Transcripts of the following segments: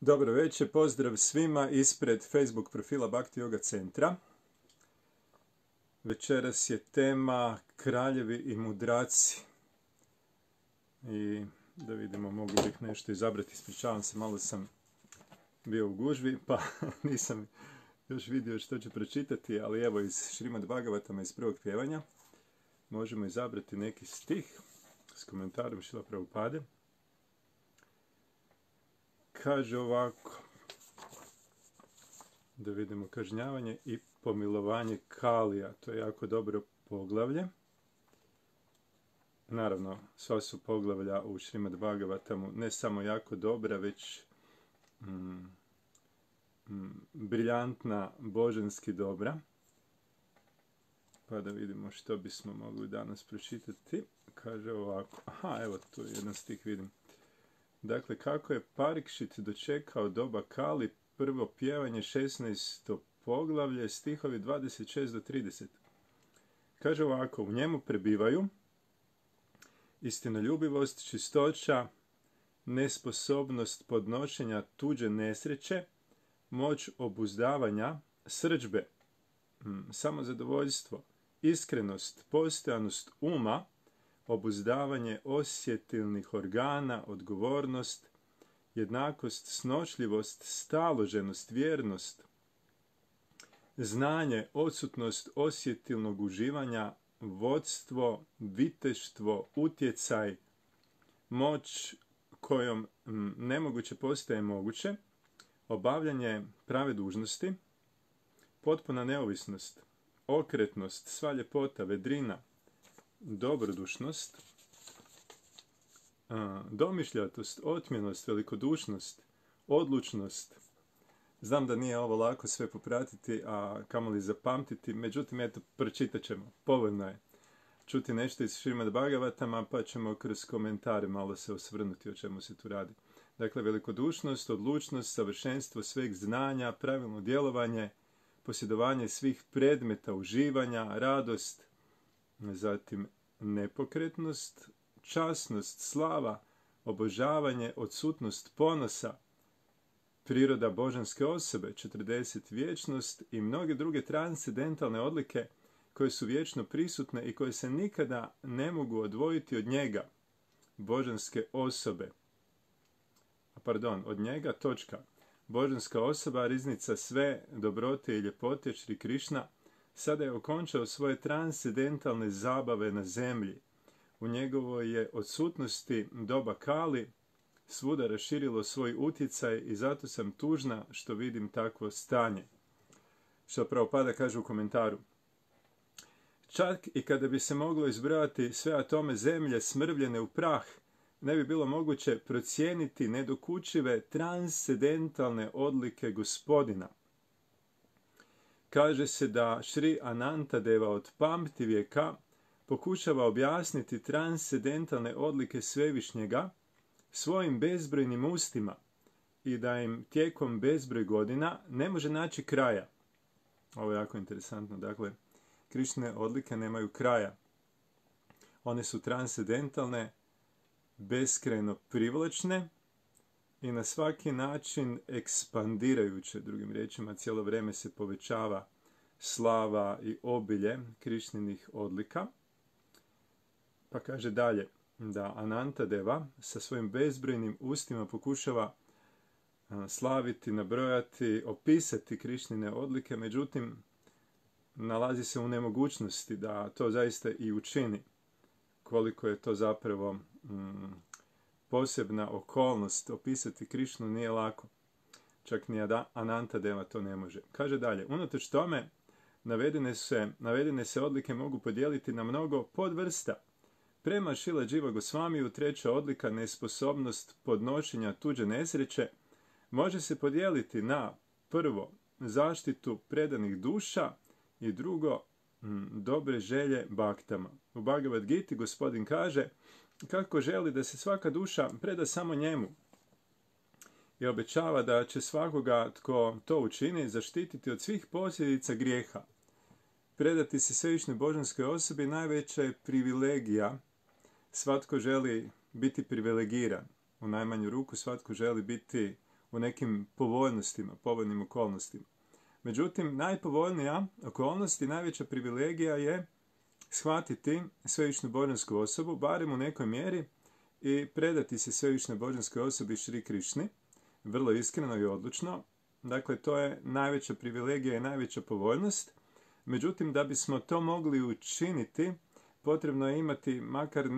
Dobro večer, pozdrav svima ispred Facebook profila Bhakti Yoga Centra. Večeras je tema kraljevi i mudraci. I da vidimo, mogu bih nešto izabrati, ispričavam se, malo sam bio u gužvi, pa nisam još vidio što ću pročitati, ali evo iz Šrimad Bhagavatama iz prvog pjevanja možemo izabrati neki stih s komentarom Šrila Prabhupade. Kaže ovako, da vidimo, kažnjavanje i pomilovanje Kalija, to je jako dobro poglavlje. Naravno, sva su poglavlja u Šrimad Bhagavatamu ne samo jako dobra, već briljantna, božanski dobra. Pa da vidimo što bismo mogli danas pročitati. Kaže ovako, evo tu jedan stih vidim. Dakle, kako je Parikšit dočekao doba Kali, prvo pjevanje, 16. poglavlje, stihovi 26 do 30. Kaže ovako, u njemu prebivaju istinoljubivost, čistoća, nesposobnost podnošenja tuđe nesreće, moć obuzdavanja, srdžbe, samozadovoljstvo, iskrenost, postojanost uma, obuzdavanje osjetilnih organa, odgovornost, jednakost, snošljivost, staloženost, vjernost, znanje, odsutnost osjetilnog uživanja, vodstvo, viteštvo, utjecaj, moć kojom nemoguće postaje moguće, obavljanje prave dužnosti, potpuna neovisnost, okretnost, sva ljepota, vedrina, dobrodušnost, domišljatost, otmjenost, velikodušnost, odlučnost. Znam da nije ovo lako sve popratiti, a kamoli zapamtiti, međutim, eto, pročitat ćemo. Povoljno je čuti nešto iz Šrimad Bhagavatama, pa ćemo kroz komentare malo se osvrnuti o čemu se tu radi. Dakle, velikodušnost, odlučnost, savršenstvo sveg znanja, pravilno djelovanje, posjedovanje svih predmeta uživanja, radost, zatim nepokretnost, časnost, slava, obožavanje, odsutnost ponosa, priroda božanske osobe, 40 vječnost i mnoge druge transcendentalne odlike koje su vječno prisutne i koje se nikada ne mogu odvojiti od njega, božanske osobe. Od njega, točka. Božanska osoba, riznica sve dobrote i ljepote, Šri Krišna, sada je okončao svoje transcendentalne zabave na zemlji. U njegovoj je odsutnosti doba Kali svuda raširilo svoj utjecaj i zato sam tužna što vidim takvo stanje. Što Prabhupada kaže u komentaru. Čak i kada bi se moglo izbrojati sve atome zemlje smrvljene u prah, ne bi bilo moguće procijeniti nedokučive transcendentalne odlike Gospodina. Kaže se da Šri Anantadeva od pamtivijeka pokušava objasniti transcendentalne odlike Svevišnjega svojim bezbrojnim ustima i da im tijekom bezbroj godina ne može naći kraja. Ovo je jako interesantno. Dakle, Krišne odlike nemaju kraja. One su transcendentalne, beskrajno privlačne i na svaki način ekspandirajuće. Drugim riječima, cijelo vrijeme se povećava slava i obilje Krišninih odlika. Pa kaže dalje da Anantadeva sa svojim bezbrojnim ustima pokušava slaviti, nabrojati, opisati Krišnine odlike, međutim nalazi se u nemogućnosti da to zaista i učini. Koliko je to zapravo posebna okolnost, opisati Krišnu nije lako. Čak ni Anantadeva to ne može. Kaže dalje, unatoč tome navedene se odlike mogu podijeliti na mnogo podvrsta. Prema Šila Dživa Gosvamiju treća odlika, nesposobnost podnošenja tuđe nesreće, može se podijeliti na prvo zaštitu predanih duša i drugo dobre želje baktama. U Bhagavad Giti Gospodin kaže kako želi da se svaka duša preda samo njemu i obećava da će svakoga tko to učini zaštititi od svih posljedica grijeha. Predati se svevišnjoj božanskoj osobi najveća je privilegija. Svatko želi biti privilegiran. U najmanju ruku svatko želi biti u nekim povoljnim okolnostima. Međutim, najpovoljnija okolnost i najveća privilegija je shvatiti svevišnju božansku osobu, barem u nekoj mjeri, i predati se svevišnjoj božanskoj osobi Šri Krišni, vrlo iskreno i odlučno. Dakle, to je najveća privilegija i najveća povoljnost. Međutim, da bismo to mogli učiniti, potrebno je imati makar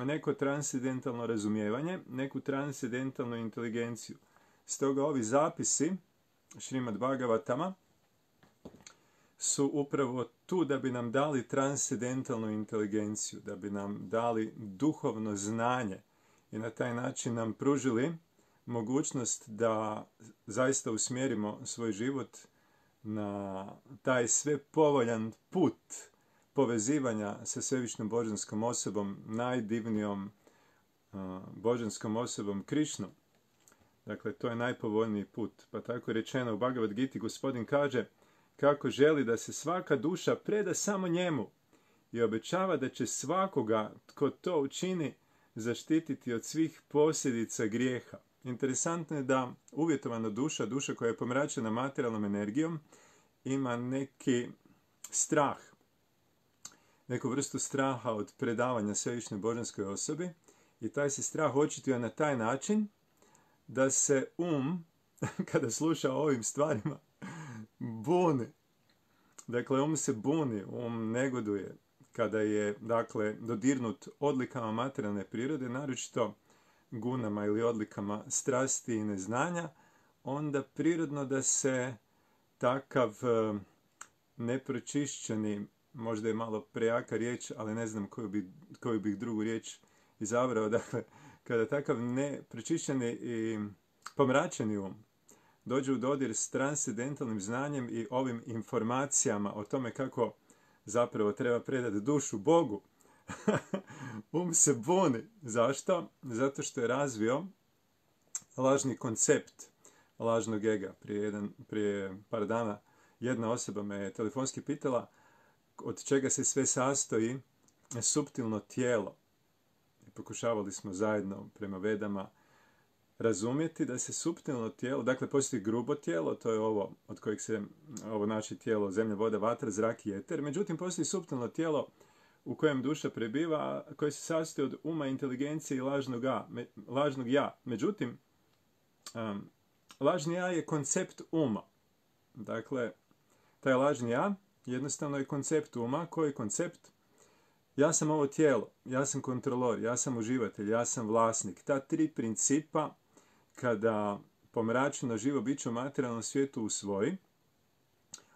neko transcendentalno razumijevanje, neku transcendentalnu inteligenciju. Stoga ovi zapisi Šrimad Bhagavatama su upravo tu da bi nam dali transcendentalnu inteligenciju, da bi nam dali duhovno znanje i na taj način nam pružili mogućnost da zaista usmjerimo svoj život na taj sve povoljan put povezivanja sa svevišnjom božanskom osobom, najdivnijom božanskom osobom Krišnom. Dakle, to je najpovoljniji put. Pa tako je rečeno u Bhagavad Giti, gospodin kaže kako želi da se svaka duša preda samo njemu i obećava da će svakoga tko to učini zaštititi od svih posljedica grijeha. Interesantno je da uvjetovana duša koja je pomračena materijalnom energijom, ima neki strah, neku vrstu straha od predavanja svevišnjoj božanskoj osobi i taj se strah očituje na taj način da se kada sluša o ovim stvarima, buni. Dakle, se buni, negoduje kada je, dodirnut odlikama materijalne prirode, naročito gunama ili odlikama strasti i neznanja, onda prirodno da se takav nepročišćeni, možda je malo prejaka riječ, ali ne znam koju bih drugu riječ izabrao, dakle, kada takav nepročišćeni i pomračeni dođe u dodir s transcendentalnim znanjem i ovim informacijama o tome kako zapravo treba predati dušu Bogu, se buni. Zašto? Zato što je razvio lažni koncept lažnog ega. Prije par dana jedna osoba me telefonski pitala od čega se sve sastoji suptilno tijelo. I pokušavali smo zajedno prema Vedama razumjeti da se suptilno tijelo, dakle postoji grubo tijelo, to je ovo od kojeg se ovo naše tijelo, zemlja, voda, vatra, zrak i eter. Međutim, postoji suptilno tijelo u kojem duša prebiva, koje se sastoji od uma, inteligencije i lažnog ja. Međutim, lažni ja je koncept uma. Dakle, taj lažni ja jednostavno je koncept uma. Koji je koncept? Ja sam ovo tijelo, ja sam kontrolor, ja sam uživatelj, ja sam vlasnik. Ta tri principa, kada pomračeno živo biće u materijalnom svijetu usvoji,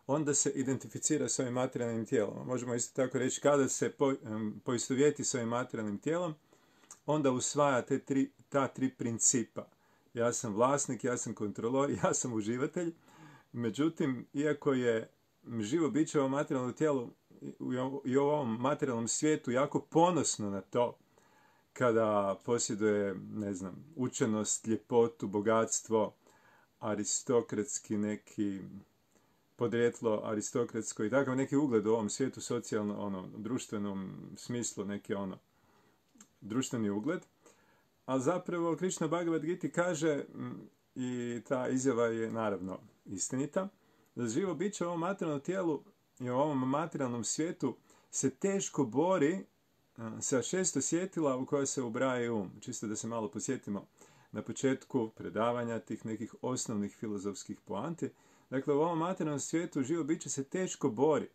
onda se identificira s ovim materijalnim tijelom. Možemo isto tako reći, kada se poistovjeti s ovim materijalnim tijelom, onda usvaja ta tri principa. Ja sam vlasnik, ja sam kontrolor, ja sam uživatelj. Međutim, iako je živo biće u ovom materijalnom tijelu i u ovom materijalnom svijetu jako ponosno na to, kada posjeduje, učenost, ljepotu, bogatstvo, aristokratski neki podrijetlo aristokratsko i takav neki ugled u ovom svijetu, socijalno, društvenom smislu, neki društveni ugled. A zapravo Krishna Bhagavad Gita kaže, i ta izjava je naravno istinita, da živo biće u ovom materijalnom tijelu i u ovom materijalnom svijetu se teško bori sa 6 osjetila u koja se ubraja Čisto da se malo posjetimo na početku predavanja tih nekih osnovnih filozofskih poanti. Dakle, u ovom materijalnom svijetu živo biće se teško bori.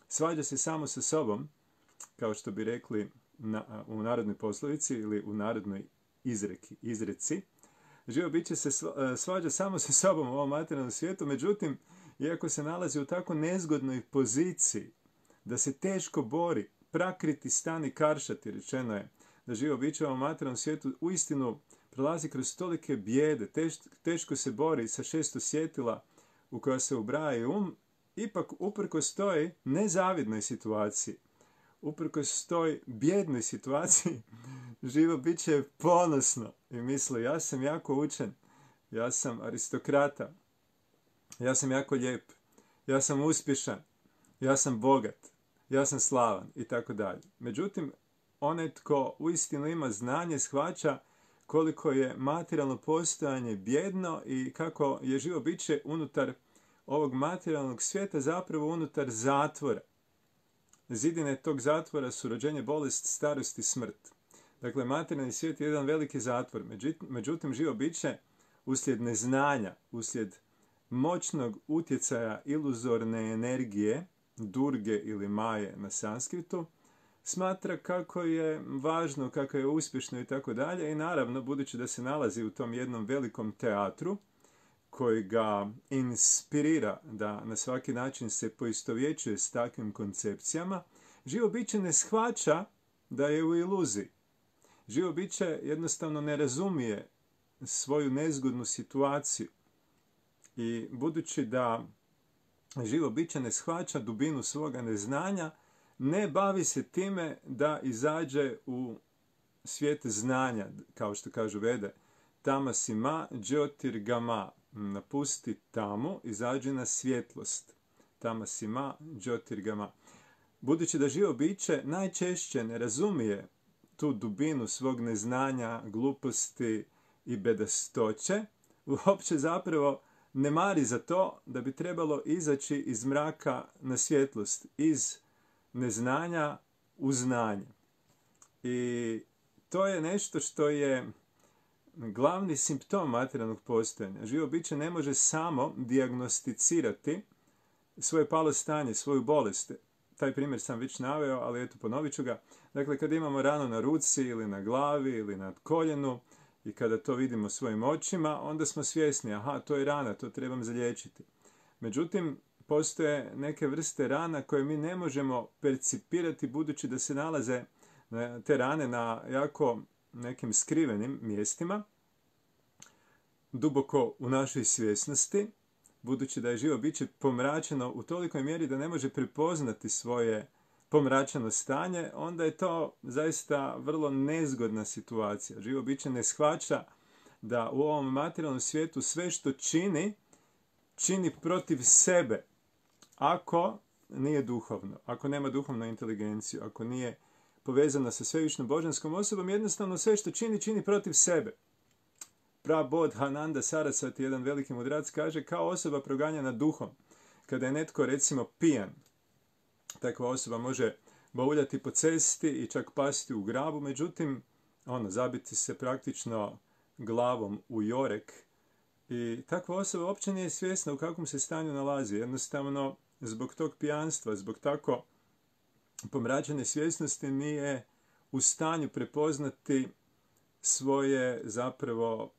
Svađa se samo sa sobom, kao što bi rekli u narodnoj poslovici ili u narodnoj izreci. Živo biće se svađa samo sa sobom u ovom materijalnom svijetu, međutim, iako se nalazi u tako nezgodnoj poziciji da se teško bori, prakriti stani karšati, rečeno je da živo biće u ovom materijalnom svijetu uistinu prolazi kroz tolike bijede, teško se bori sa 6 osjetila u koja se ubraja ipak uprkos toj nezavidnoj situaciji, uprkos toj bijednoj situaciji, živo biće ponosno i misli, ja sam jako učen, ja sam aristokrata, ja sam jako lijep, ja sam uspješan, ja sam bogat, ja sam slavan i tako dalje. Međutim, onaj tko uistinu ima znanje shvaća koliko je materijalno postojanje bjedno i kako je živo biće unutar ovog materijalnog svijeta zapravo unutar zatvora. Zidine tog zatvora su rođenje, bolest, starost i smrt. Dakle, materijalni svijet je jedan veliki zatvor. Međutim, živo biće uslijed neznanja, uslijed moćnog utjecaja iluzorne energije, durge ili maje na sanskritu, smatra kako je važno, kako je uspješno i tako dalje. I naravno, budući da se nalazi u tom jednom velikom teatru, koji ga inspirira da na svaki način se poistovjećuje s takvim koncepcijama, živo biće ne shvaća da je u iluziji. Živo biće jednostavno ne razumije svoju nezgodnu situaciju. I budući da živo biće ne shvaća dubinu svoga neznanja, ne bavi se time da izađe u svijet znanja, kao što kažu Vede. Tamasima Jyotirgama, napusti tamu, izađi na svjetlost. Tamasima Jyotirgama. Budući da živo biće najčešće ne razumije tu dubinu svog neznanja, gluposti i bedastoće, uopće zapravo ne mari za to da bi trebalo izaći iz mraka na svjetlost, iz neznanja u znanje. I to je nešto što je glavni simptom materijalnog postojanja. Živo biće ne može samo dijagnosticirati svoje palo stanje, svoju bolest. Taj primjer sam već naveo, ali eto ponovit ću ga. Dakle, kad imamo ranu na ruci ili na glavi ili na koljenu i kada to vidimo svojim očima, onda smo svjesni, aha, to je rana, to trebam zaliječiti. Međutim, postoje neke vrste rana koje mi ne možemo percipirati budući da se nalaze te rane na jako nekim skrivenim mjestima, duboko u našoj svjesnosti, budući da je živo biće pomračeno u tolikoj mjeri da ne može prepoznati svoje pomračeno stanje, onda je to zaista vrlo nezgodna situacija. Živo biće ne shvaća da u ovom materijalnom svijetu sve što čini protiv sebe, ako nije duhovno, ako nema duhovnu inteligenciju, ako nije povezana sa svevišnjom božanskom osobom, jednostavno sve što čini protiv sebe. Prabodhananda Sarasvati, jedan veliki mudrac, kaže kao osoba proganjana duhom. Kada je netko, recimo, pijan, takva osoba može bauljati po cesti i čak pasti u grabu, međutim, zabiti se praktično glavom u jorek. I takva osoba uopće nije svjesna u kakvom se stanju nalazi. Jednostavno, zbog tog pijanstva, zbog tako pomračene svjesnosti nije u stanju prepoznati svoje zapravo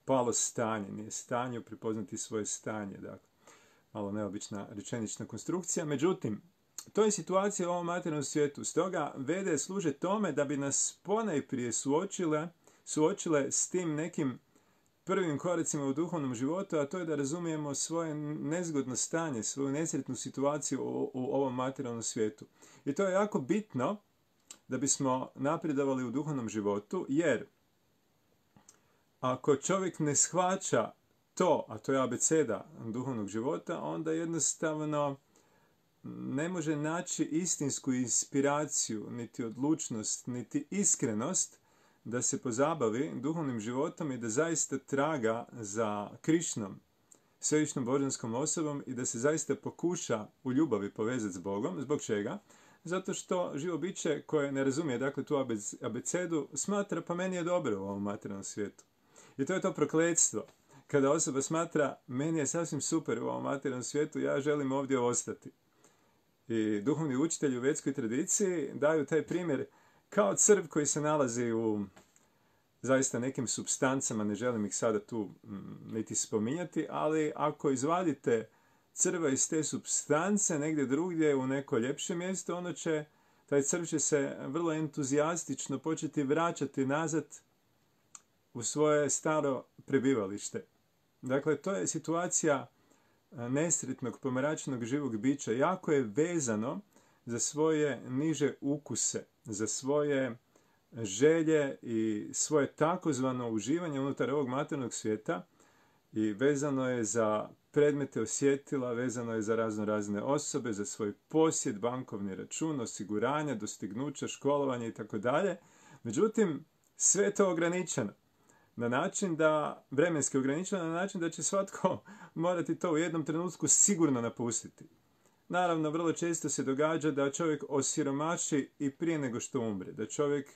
palo stanje, nije u stanju prepoznati svoje stanje. Dakle, malo neobična rečenična konstrukcija. Međutim, to je situacija u ovom materijalnom svijetu. Stoga Vede služe tome da bi nas ponajprije suočile s tim nekim prvim koracima u duhovnom životu, a to je da razumijemo svoje nezgodno stanje, svoju nesretnu situaciju u ovom materijalnom svijetu. I to je jako bitno da bismo napredovali u duhovnom životu, jer ako čovjek ne shvaća to, a to je abeceda duhovnog života, onda jednostavno ne može naći istinsku inspiraciju, niti odlučnost, niti iskrenost da se pozabavi duhovnim životom i da zaista traga za Krišnom, svevišnjom božanskom osobom i da se zaista pokuša u ljubavi povezati s Bogom. Zbog čega? Zato što živo biće koje ne razumije dakle tu abecedu smatra pa meni je dobro u ovom materijalnom svijetu. I to je to prokletstvo. Kada osoba smatra meni je sasvim super u ovom materijalnom svijetu, ja želim ovdje ostati. I duhovni učitelji u vedskoj tradiciji daju taj primjer kao crv koji se nalazi u zaista nekim supstancama, ne želim ih sada tu niti spominjati, ali ako izvadite crva iz te supstance negdje drugdje u neko ljepše mjesto, taj crv će se vrlo entuzijastično početi vraćati nazad u svoje staro prebivalište. Dakle, to je situacija nesretnog, pomračenog živog bića. Jako je vezano za svoje niže ukuse, za svoje želje i svoje takozvano uživanje unutar ovog materijalnog svijeta i vezano je za predmete osjetila, vezano je za razne osobe, za svoj posjed, bankovni račun, osiguranja, dostignuća, školovanje i tako dalje. Međutim, Sve je to ograničeno. Na način da, vremenski ograničeno, na način da će svatko morati to u jednom trenutku sigurno napustiti. Naravno, vrlo često se događa da čovjek osiromaši i prije nego što umre. Da čovjek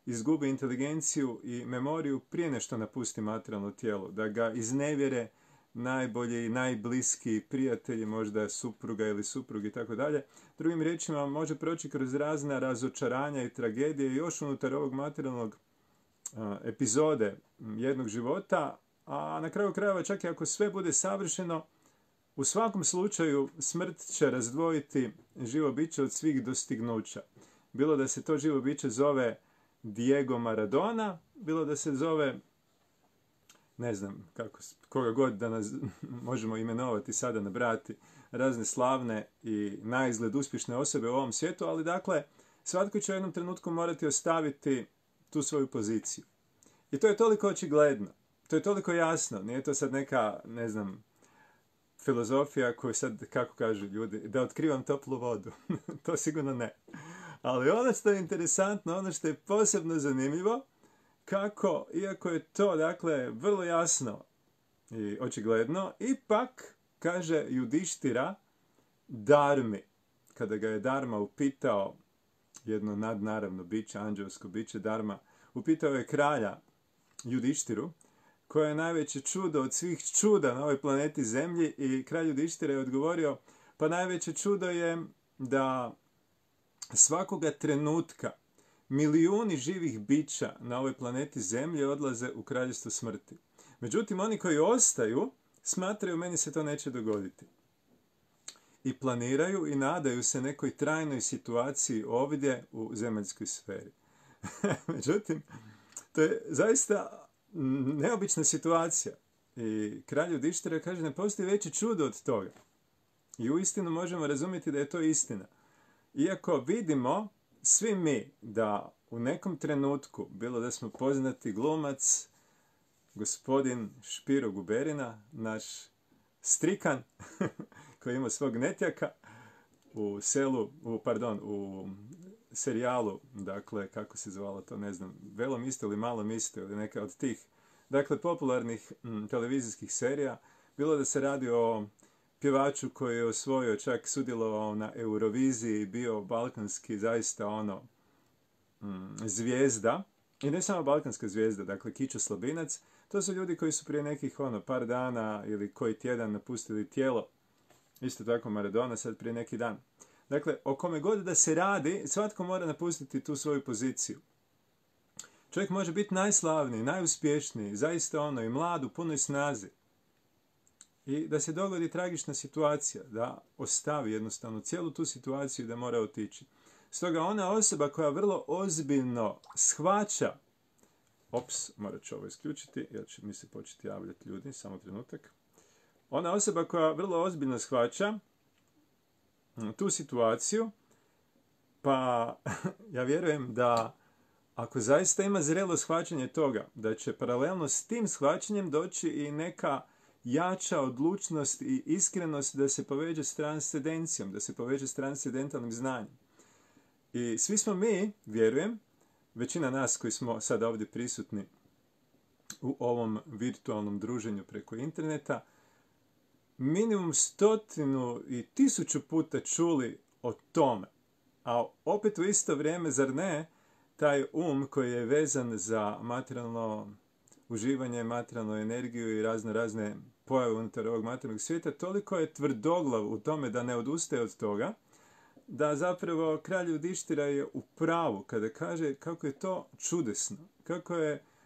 izgubi inteligenciju i memoriju prije nego što napusti materijalno tijelo. Da ga iznevjere najbolji i najbliskiji prijatelji, možda supruga ili suprug i tako dalje. Drugim riječima, može proći kroz razna razočaranja i tragedije još unutar ovog materijalnog epizode jednog života, a na kraju krajeva čak i ako sve bude savršeno, u svakom slučaju smrt će razdvojiti živo biće od svih dostignuća. Bilo da se to živo biće zove Diego Maradona, bilo da se zove, ne znam, koga god da nas možemo imenovati sada, nabrati, razne slavne i naizgled uspješne osobe u ovom svijetu, ali dakle, svatko će u jednom trenutku morati ostaviti tu svoju poziciju. I to je toliko očigledno, to je toliko jasno, nije to sad neka, ne znam, filozofija koju sad, kako kažu ljudi, da otkrivam toplu vodu. To sigurno ne. Ali ono što je interesantno, ono što je posebno zanimljivo, kako, iako je to, dakle, vrlo jasno i očigledno, ipak, kaže Judištira, Dharmi, kada ga je Dharma upitao, jedno nadnaravno biće, anđelsko biće Dharma, upitao je kralja Judištiru, koje je najveće čudo od svih čuda na ovoj planeti Zemlji, i kralj Judištira je odgovorio, pa najveće čudo je da svakoga trenutka milijuni živih bića na ovoj planeti Zemlji odlaze u kraljevstvo smrti. Međutim, oni koji ostaju smatraju, meni se to neće dogoditi. I planiraju i nadaju se nekoj trajnoj situaciji ovdje u zemaljskoj sferi. Međutim, to je zaista neobična situacija. I kralj Judištira kaže, ne postoji veće čudo od toga. I uistinu možemo razumjeti da je to istina. Iako vidimo svi mi da u nekom trenutku, bilo da smo poznati glumac, gospodin Špiro Guberina, naš strikan, koji ima svog netjaka, u serijalu, dakle, kako se zvalo to, ne znam, Velom isto ili Malom isto, ili neka od tih, dakle, popularnih televizijskih serija, bilo da se radi o pjevaču koji je osvojio, čak sudjelovao na Euroviziji, bio balkanski, zaista zvijezda, i ne samo balkanska zvijezda, dakle, Kićo Slabinac, to su ljudi koji su prije nekih, par dana ili koji tjedan napustili tijelo, isto tako Maradona, sad prije neki dan. Dakle, o kome god da se radi, svatko mora napustiti tu svoju poziciju. Čovjek može biti najslavniji, najuspješniji, zaista i mlad, u punoj snazi. I da se dogodi tragična situacija, da ostavi jednostavno cijelu tu situaciju i da mora otići. Stoga ona osoba koja vrlo ozbiljno shvaća, morat ću ovo isključiti, jer će mi se početi javljati ljudi, samo trenutak. Ona osoba koja vrlo ozbiljno shvaća tu situaciju, pa ja vjerujem da ako zaista ima zrelo shvaćanje toga, da će paralelno s tim shvaćanjem doći i neka jača odlučnost i iskrenost da se poveže s transcendencijom, da se poveže s transcendentalnim znanjem. I svi smo mi, vjerujem, većina nas koji smo sada ovdje prisutni u ovom virtualnom druženju preko interneta, minimum 100 i 1000 puta čuli o tome. A opet u isto vrijeme, zar ne, taj koji je vezan za materijalno uživanje, materijalnu energiju i razne pojave unutar ovog materijalnog svijeta, toliko je tvrdoglav u tome da ne odustaje od toga, da zapravo kralj Judištira je u pravu kada kaže kako je to čudesno.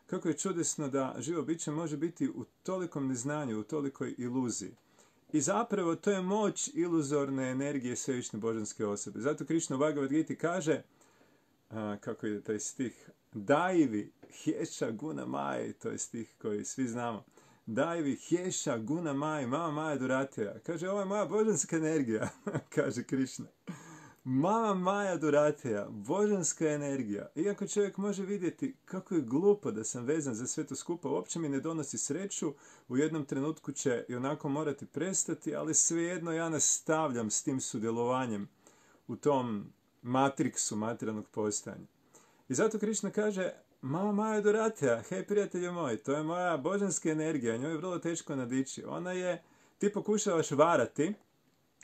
Kako je čudesno da živo biće može biti u tolikom neznanju, u tolikoj iluziji. I zapravo to je moć iluzorne energije svevišnje božanske osobe. Zato Krišna u Bhagavad Giti kaže, kako ide taj stih, Daivi hješa guna maj, to je stih koji svi znamo. Daivi hješa guna maj, mama maja durateja. Kaže, ovo je moja božanska energija, kaže Krišna. Mama maja durateja, božanska energija. Iako čovjek može vidjeti kako je glupo da sam vezan za sve to skupa, uopće mi ne donosi sreću, u jednom trenutku će i onako morati prestati, ali svejedno ja nastavljam s tim sudjelovanjem u tom matriksu materijalnog postojanja. I zato Krišna kaže, Mama Maja Doratea, hej prijatelju moj, to je moja božanska energija, njoj je vrlo teško nadići. Ti pokušavaš varati,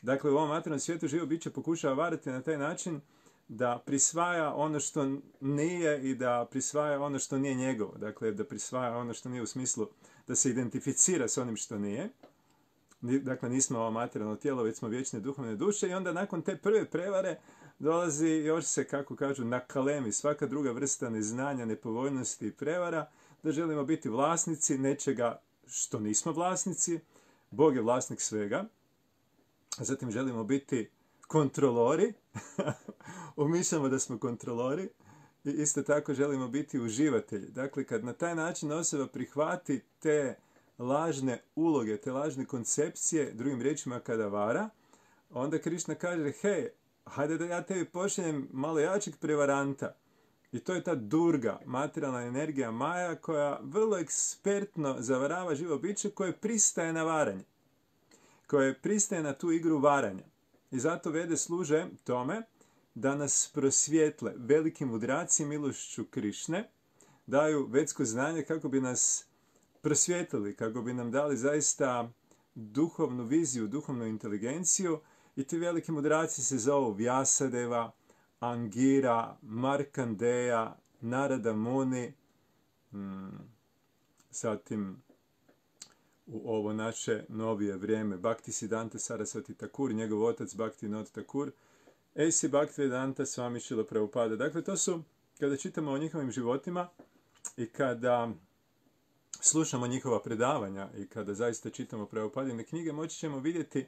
dakle u ovom materijalnom svijetu živo biće pokušava varati na taj način da prisvaja ono što nije i da prisvaja ono što nije njegovo. Dakle, da prisvaja ono što nije u smislu da se identificira s onim što nije. Dakle, nismo ovo materijalno tijelo, već smo vječne duhovne duše i onda nakon te prve prevare dolazi još se, kako kažu, nakalemi svaka druga vrsta neznanja, nepovoljnosti i prevara, da želimo biti vlasnici nečega što nismo vlasnici. Bog je vlasnik svega. Zatim želimo biti kontrolori. Umišljamo da smo kontrolori. I isto tako želimo biti uživatelji. Dakle, kad na taj način osoba prihvati te lažne uloge, te lažne koncepcije, drugim riječima kada vara, onda Krišna kaže, hej, hajde da ja tebi pošaljem malo jačeg prevaranta. I to je ta Durga, materijalna energija Maja, koja vrlo ekspertno zavarava živo biće koje pristaje na varanje. Koje pristaje na tu igru varanja. I zato Vede služe tome da nas prosvjetle veliki mudraci milošću Krišne, daju vedsko znanje kako bi nas prosvjetlili, kako bi nam dali zaista duhovnu viziju, duhovnu inteligenciju. I ti veliki mudraci se zovu Vyasadeva, Angira, Markandeja, Narada Muni, zatim u ovo naše novije vrijeme Bhaktisiddhanta Sarasvati Thakur, njegov otac Bhaktivinoda Thakur, A.C. Bhaktivedanta Swami Srila Prabhupada. Dakle, to su, kada čitamo o njihovim životima i kada slušamo njihova predavanja i kada zaista čitamo Prabhupadine knjige, moći ćemo vidjeti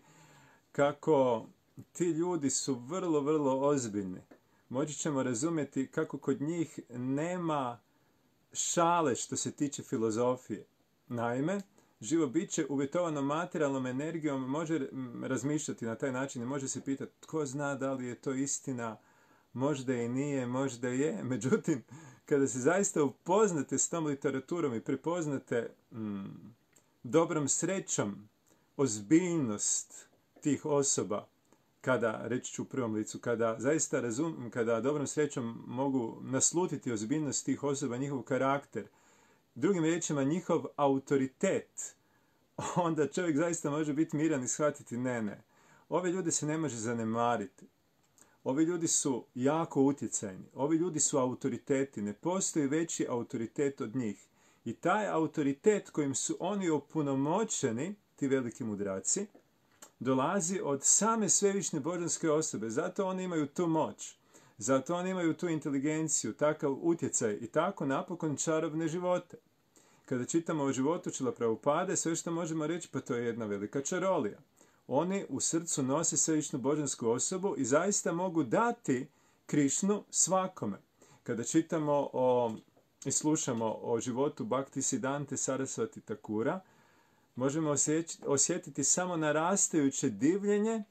kako ti ljudi su vrlo, vrlo ozbiljni. Moći ćemo razumjeti kako kod njih nema šale što se tiče filozofije. Naime, živo biće uvjetovano materijalnom energijom može razmišljati na taj način i može se pitati tko zna da li je to istina, možda i nije, možda je. Međutim, kada se zaista upoznate s tom literaturom i prepoznate dobrom srećom ozbiljnost tih osoba, kada, reći ću u prvom licu, kada zaista kada dobrom srećom mogu naslutiti ozbiljnost tih osoba, njihov karakter, drugim riječima njihov autoritet, onda čovjek zaista može biti miran i shvatiti ne. Ove ljude se ne može zanemariti. Ovi ljudi su jako utjecajni. Ovi ljudi su autoriteti. Ne postoji veći autoritet od njih. I taj autoritet kojim su oni opunomoćeni, ti veliki mudraci, dolazi od same svevišnje božanske osobe. Zato oni imaju tu moć. Zato oni imaju tu inteligenciju, takav utjecaj i tako napokon čarobne živote. Kada čitamo o životu Šrila Prabhupade, sve što možemo reći, pa to je jedna velika čarolija. Oni u srcu nose svevišnju božansku osobu i zaista mogu dati Krišnu svakome. Kada čitamo i slušamo o životu Bhaktisiddhante Sarasvati Thakura, možemo osjetiti samo narastajuće divljenje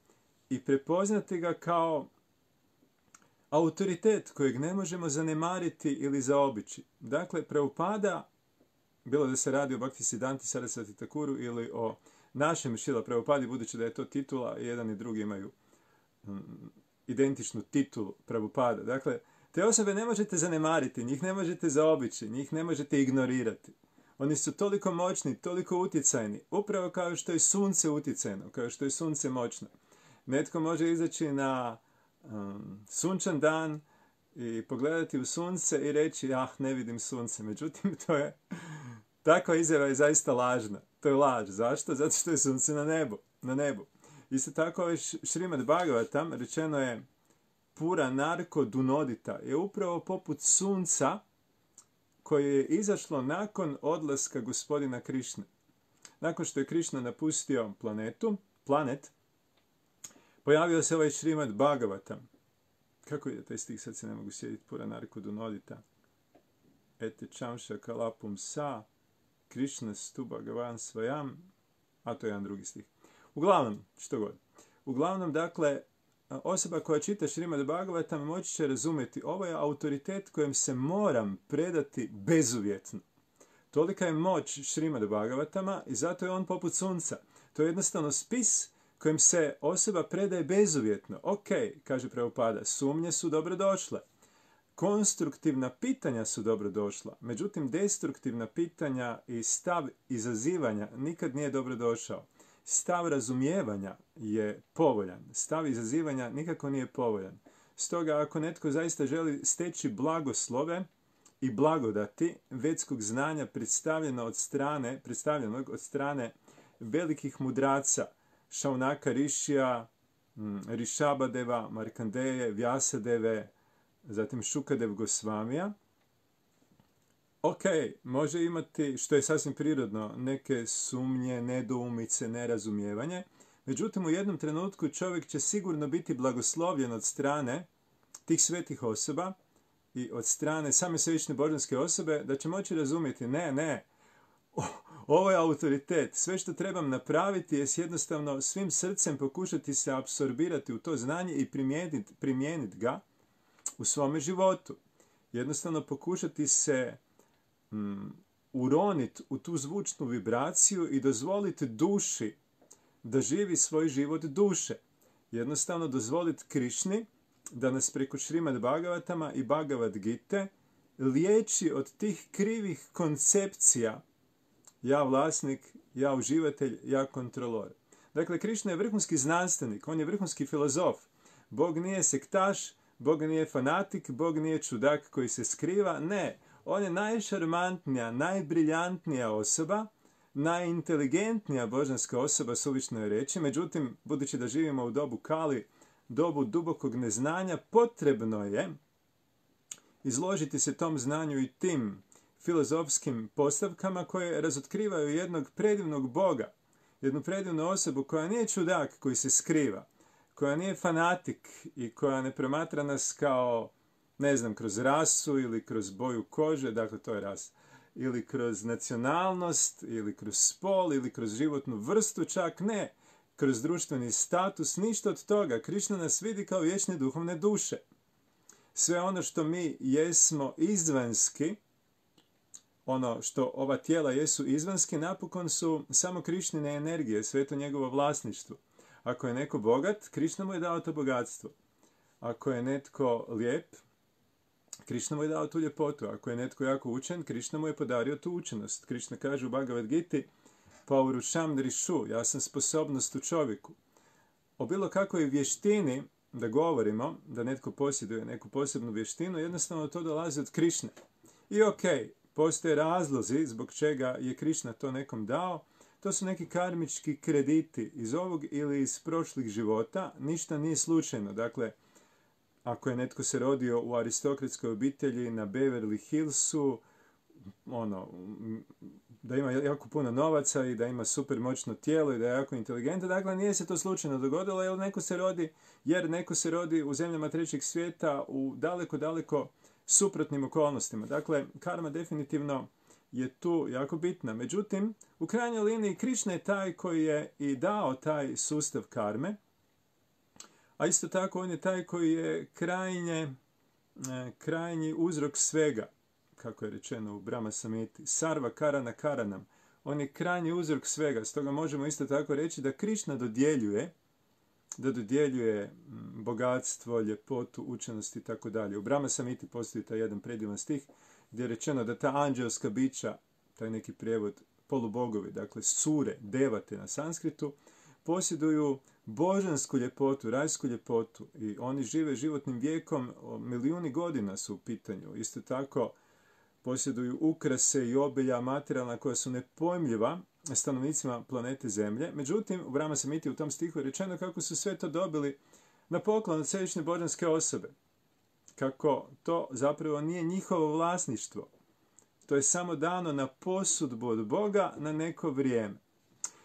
i prepoznati ga kao autoritet kojeg ne možemo zanemariti ili zaobići. Dakle, Prabhupada, bilo da se radi o Bhaktisiddhanti Sarasvati Thakuru ili o našem Šrila Prabhupadi, budući da je to titula, jedan i drugi imaju identičnu titulu Prabhupada. Dakle, te osobe ne možete zanemariti, njih ne možete zaobići, njih ne možete ignorirati. Oni su toliko moćni, toliko utjecajni, upravo kao što je sunce utjecajno, kao što je sunce moćno. Netko može izaći na sunčan dan i pogledati u sunce i reći, ne vidim sunce. Međutim, takva izjava je zaista lažna. To je laž. Zašto? Zato što je sunce na nebu. Isto tako je Šrimad Bhagavatam, rečeno je Pura Narko Dunodita, je upravo poput sunca koje je izašlo nakon odlaska gospodina Krišne. Nakon što je Krišna napustio planet, pojavio se ovaj Šrimad Bhagavatam. Kako je taj stih, sad se ne mogu sjediti, Pura Narko Dunodita. Ete čamša kalapum sa, Krišna stu Bhagavan svajam, a to je jedan drugi stih. Uglavnom, što god. Uglavnom, dakle, osoba koja čita Šrimad Bhagavatam moći će razumjeti, ovo je autoritet kojem se moram predati bezuvjetno. Tolika je moć Šrimad Bhagavatama i zato je on poput sunca. To je jednostavno spis kojem se osoba predaje bezuvjetno. Ok, kaže Prabhupada, sumnje su dobrodošle. konstruktivna pitanja su dobro došla. Međutim, destruktivna pitanja i stav izazivanja nikad nije dobro došao. Stav razumijevanja je povoljan. Stav izazivanja nikako nije povoljan. Stoga, ako netko zaista želi steći blagoslove i blagodati vedskog znanja predstavljenog od strane velikih mudraca, Šaunaka Rišija, Rišabadeva, Markandeje, Vjasadeve, zatim Šukadev Gosvamija. Ok, može imati, što je sasvim prirodno, neke sumnje, nedoumice, nerazumijevanje. Međutim, u jednom trenutku čovjek će sigurno biti blagoslovljen od strane tih svetih osoba i od strane same svevišnje božanske osobe, da će moći razumjeti, ne, ovo je autoritet. Sve što trebam napraviti je jednostavno svim srcem pokušati se apsorbirati u to znanje i primijeniti ga u svome životu. Jednostavno pokušati se uroniti u tu zvučnu vibraciju i dozvoliti duši da živi svoj život duše. Jednostavno dozvoliti Krišni da nas preko Šrimad Bhagavatama i Bhagavad Gite liječi od tih krivih koncepcija ja vlasnik, ja uživatelj, ja kontrolor. Dakle, Krišna je vrhunski znanstvenik, on je vrhunski filozof. Bog nije sektaš, Bog nije fanatik, Bog nije čudak koji se skriva. Ne, on je najšarmantnija, najbriljantnija osoba, najinteligentnija božanska osoba, suvišno je reći. Međutim, budući da živimo u dobu Kali, dobu dubokog neznanja, potrebno je izložiti se tom znanju i tim filozofskim postavkama koje razotkrivaju jednog predivnog Boga, jednu predivnu osobu koja nije čudak koji se skriva, koja nije fanatik i koja ne promatra nas kao, ne znam, kroz rasu ili kroz boju kože, dakle to je rasa, ili kroz nacionalnost, ili kroz spol, ili kroz životnu vrstu, čak ne, kroz društveni status, ništa od toga. Krišna nas vidi kao vječne duhovne duše. Sve ono što mi jesmo izvanski, ono što ova tijela jesu izvanski, napokon su samo Krišnine energije, sve to njegovo vlasništvo. Ako je neko bogat, Krišna mu je dao to bogatstvo. Ako je netko lijep, Krišna mu je dao tu ljepotu. Ako je netko jako učen, Krišna mu je podario tu učenost. Krišna kaže u Bhagavad Giti, Paurušam Drišu, ja sam sposobnost u čovjeku. O bilo kakvoj vještini da govorimo, da netko posjeduje neku posebnu vještinu, jednostavno to dolazi od Krišne. I postoje razlozi zbog čega je Krišna to nekom dao. To su neki karmički krediti iz ovog ili iz prošlih života. Ništa nije slučajno. Dakle, ako je netko se rodio u aristokratskoj obitelji na Beverly Hillsu, da ima jako puno novaca i da ima super moćno tijelo i da je jako inteligentan, dakle nije se to slučajno dogodilo jer neko se rodi u zemljama trećeg svijeta u daleko suprotnim okolnostima. Dakle, karma definitivno je tu jako bitna. Međutim, u krajnjoj liniji Krišna je taj koji je i dao taj sustav karme, a isto tako on je taj koji je krajnji uzrok svega, kako je rečeno u Brahma Samhiti, Sarva Karana Karanam. On je krajnji uzrok svega, stoga možemo isto tako reći da Krišna dodjeljuje bogatstvo, ljepotu, učenost i tako dalje. U Brahma Samhiti postoji taj jedan predivan stih gdje je rečeno da ta anđelska bića, taj neki prijevod, polubogovi, dakle sure, devate na sanskritu, posjeduju božansku ljepotu, rajsku ljepotu i oni žive životnim vijekom, milijuni godina su u pitanju. Isto tako posjeduju ukrase i obilja materijalna koja su nepojmljiva stanovnicima planete Zemlje. Međutim, u Brahma Samhiti u tom stihu je rečeno kako su sve to dobili na poklon od svevišnje božanske osobe. Kako to zapravo nije njihovo vlasništvo. To je samo dano na posudbu od Boga na neko vrijeme.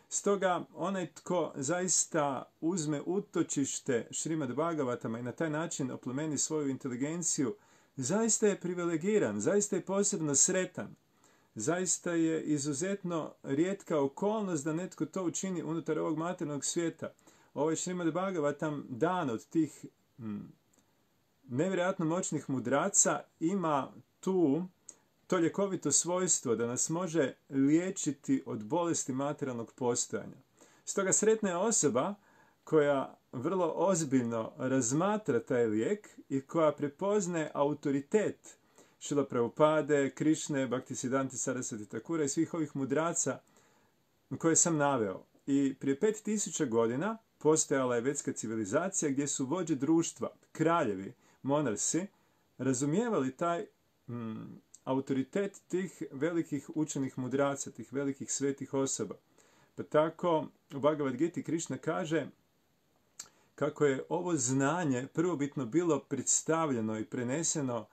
Stoga, onaj tko zaista uzme utočište Šrimad Bhagavatama i na taj način oplemeni svoju inteligenciju, zaista je privilegiran, zaista je posebno sretan. Zaista je izuzetno rijetka okolnost da netko to učini unutar ovog materijalnog svijeta. Ovaj Šrimad Bhagavatam, dan od tih nevjerojatno moćnih mudraca, ima to ljekovito svojstvo da nas može liječiti od bolesti materijalnog postojanja. Stoga sretna je osoba koja vrlo ozbiljno razmatra taj lijek i koja prepoznaje autoritet Šrila Prabhupade, Krišne, Bhaktisiddhante Sarasvati Thakura i svih ovih mudraca koje sam naveo. I prije 5000 godina postojala je vedska civilizacija gdje su vođe društva, kraljevi, monarsi, razumijevali taj autoritet tih velikih učenih mudraca, tih velikih svetih osoba. Pa tako u Bhagavad Giti Krišna kaže kako je ovo znanje prvobitno bilo predstavljeno i preneseno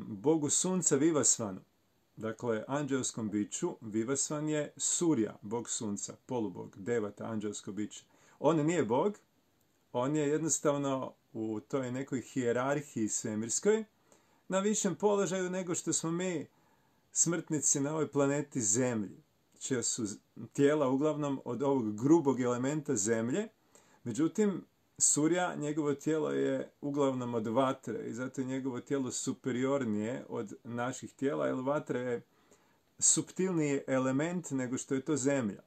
Bogu sunca Vivasvanu. Dakle, anđelskom biću Vivasvan je Surja, bog sunca, polubog, devata, anđelsko biće. On nije bog, on je jednostavno u toj nekoj hijerarhiji svemirskoj na višem položaju nego što smo mi smrtnici na ovoj planeti Zemlji, čija su tijela uglavnom od ovog grubog elementa Zemlje. Međutim, Surja, njegovo tijelo je uglavnom od vatre i zato je njegovo tijelo superiornije od naših tijela, jer vatra je suptilniji element nego što je to Zemlja.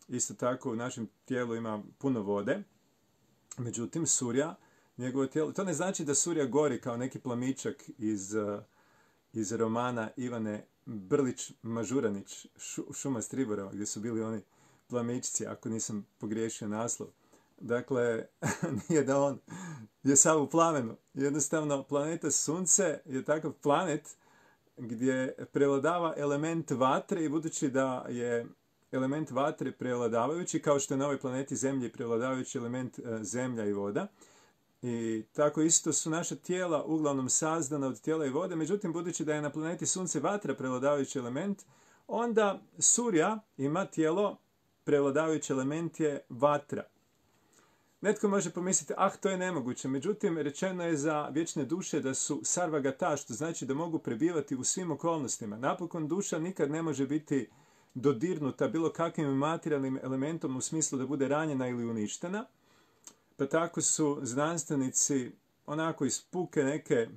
Isto tako u našem tijelu ima puno vode, međutim Surja, njegovo tijelo, to ne znači da Surja gori kao neki plamičak iz romana Ivane Brlić-Mažuranić, Šuma Striborova, gdje su bili oni plamičci, ako nisam pogriješio naslov. Dakle, nije da on je sav u plamenu. Jednostavno, planeta Sunce je takav planet gdje prevladava element vatre i budući da je element vatre prevladavajući, kao što je na ovoj planeti Zemlji prevladavajući element zemlja i voda. I tako isto su naša tijela uglavnom sazdana od tijela i vode, međutim, budući da je na planeti Sunce vatra prevladavajući element, onda Surja ima tijelo, prevladavajući element je vatra. Netko može pomisliti, to je nemoguće. Međutim, rečeno je za vječne duše da su sarvagata, što znači da mogu prebivati u svim okolnostima. Napokon duša nikad ne može biti dodirnuta bilo kakvim materijalnim elementom u smislu da bude ranjena ili uništena. Pa tako su znanstvenici onako iz puke neke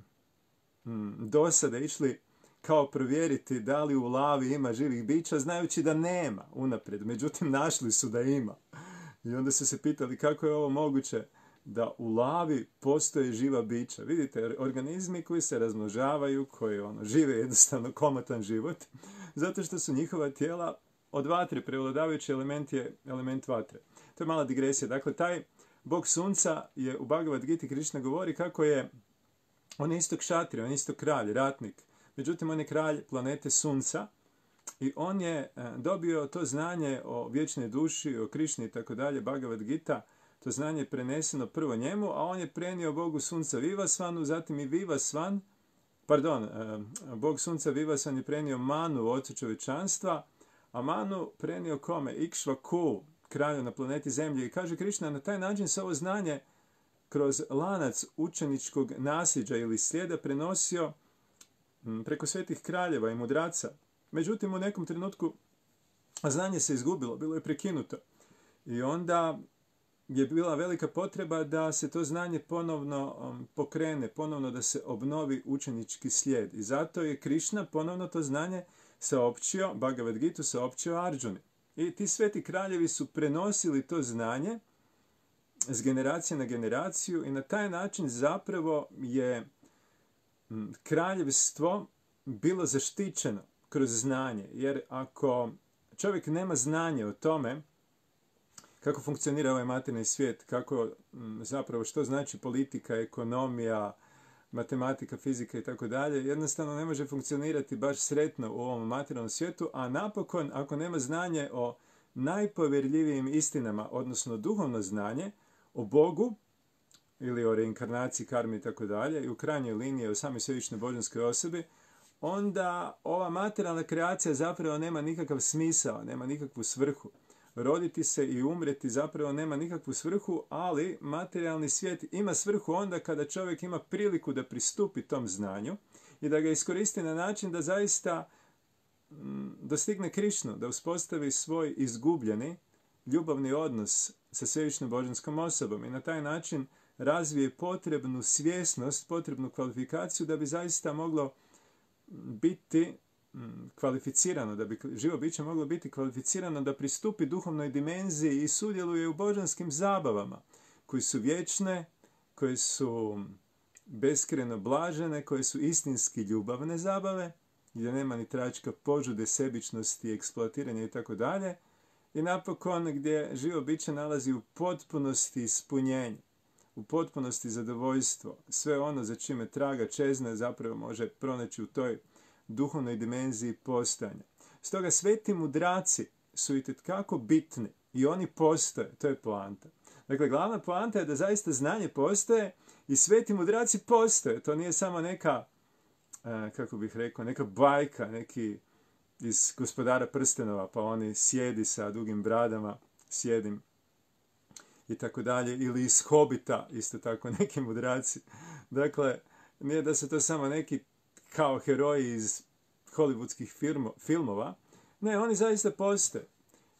dosade išli kao provjeriti da li u lavi ima živih bića, znajući da nema unaprijed. Međutim, našli su da ima. I onda su se pitali kako je ovo moguće da u lavi postoje živa bića. Vidite, organizmi koji se razmnožavaju, koji žive jednostavno komotan život, zato što su njihova tijela od vatre, prevladavajući element je element vatre. To je mala digresija. Dakle, taj bog sunca je u Bhagavad Giti Krišna govori kako je on je isto kšatri, on je isto kralj, ratnik. Međutim, on je kralj planete Sunca. I on je dobio to znanje o vječnoj duši, o Krišni i tako dalje, Bhagavad Gita, to znanje je preneseno prvo njemu, a on je prenio Bogu Sunca Vivasvanu, zatim i Vivasvan, Bog Sunca Vivasvan je prenio Manu, ocu čovječanstva, a Manu prenio kome? Ikšvaku, kralju na planeti Zemlji. I kaže Krišna, na taj način se ovo znanje kroz lanac učeničkog nasljeđa ili slijeda prenosio preko svetih kraljeva i mudraca. Međutim, u nekom trenutku znanje se izgubilo, bilo je prekinuto. I onda je bila velika potreba da se to znanje ponovno pokrene, ponovno da se obnovi učenički slijed. I zato je Krišna ponovno to znanje saopćio, Bhagavad Gitu saopćio Arjuni. I ti sveti kraljevi su prenosili to znanje s generacije na generaciju i na taj način zapravo je kraljevstvo bilo zaštićeno kroz znanje. Jer ako čovjek nema znanje o tome kako funkcionira ovaj materijalni svijet, kako zapravo što znači politika, ekonomija, matematika, fizika i tako dalje, jednostavno ne može funkcionirati baš sretno u ovom materijalnom svijetu, a napokon ako nema znanje o najpovjerljivijim istinama, odnosno duhovno znanje o Bogu ili o reinkarnaciji, karmi i tako dalje, i u krajnjoj liniji o samoj svevišnjoj božanskoj osobi, onda ova materijalna kreacija zapravo nema nikakav smisao, nema nikakvu svrhu. Roditi se i umreti zapravo nema nikakvu svrhu, ali materijalni svijet ima svrhu onda kada čovjek ima priliku da pristupi tom znanju i da ga iskoristi na način da zaista dostigne Krišnu, da uspostavi svoj izgubljeni ljubavni odnos sa svevišnjom božanskom osobom i na taj način razvije potrebnu svjesnost, potrebnu kvalifikaciju da bi zaista moglo biti kvalificirano, da bi živo biće moglo biti kvalificirano da pristupi duhovnoj dimenziji i sudjeluje u božanskim zabavama. koji su vječne, koje su beskrajno blažene, koje su istinski ljubavne zabave, gdje nema ni tračka požude, sebičnosti, eksploatiranja i tako dalje. I napokon gdje živo biće nalazi u potpunosti ispunjenje, u potpunosti zadovoljstvo. Sve ono za čime traga čezne zapravo može pronaći u toj duhovnoj dimenziji postojanja. Stoga sveti mudraci su itekako bitni i oni postoje, to je poanta. Dakle, glavna poanta je da zaista znanje postoje i sveti mudraci postoje. To nije samo neka, kako bih rekao, neka bajka, neki iz Gospodara prstenova, pa oni sjedi sa dugim bradama, sjedim i tako dalje, ili iz Hobita, isto tako neki mudraci. Dakle, nije da su to samo neki kao heroji iz hollywoodskih filmova, ne, oni zaista postoje.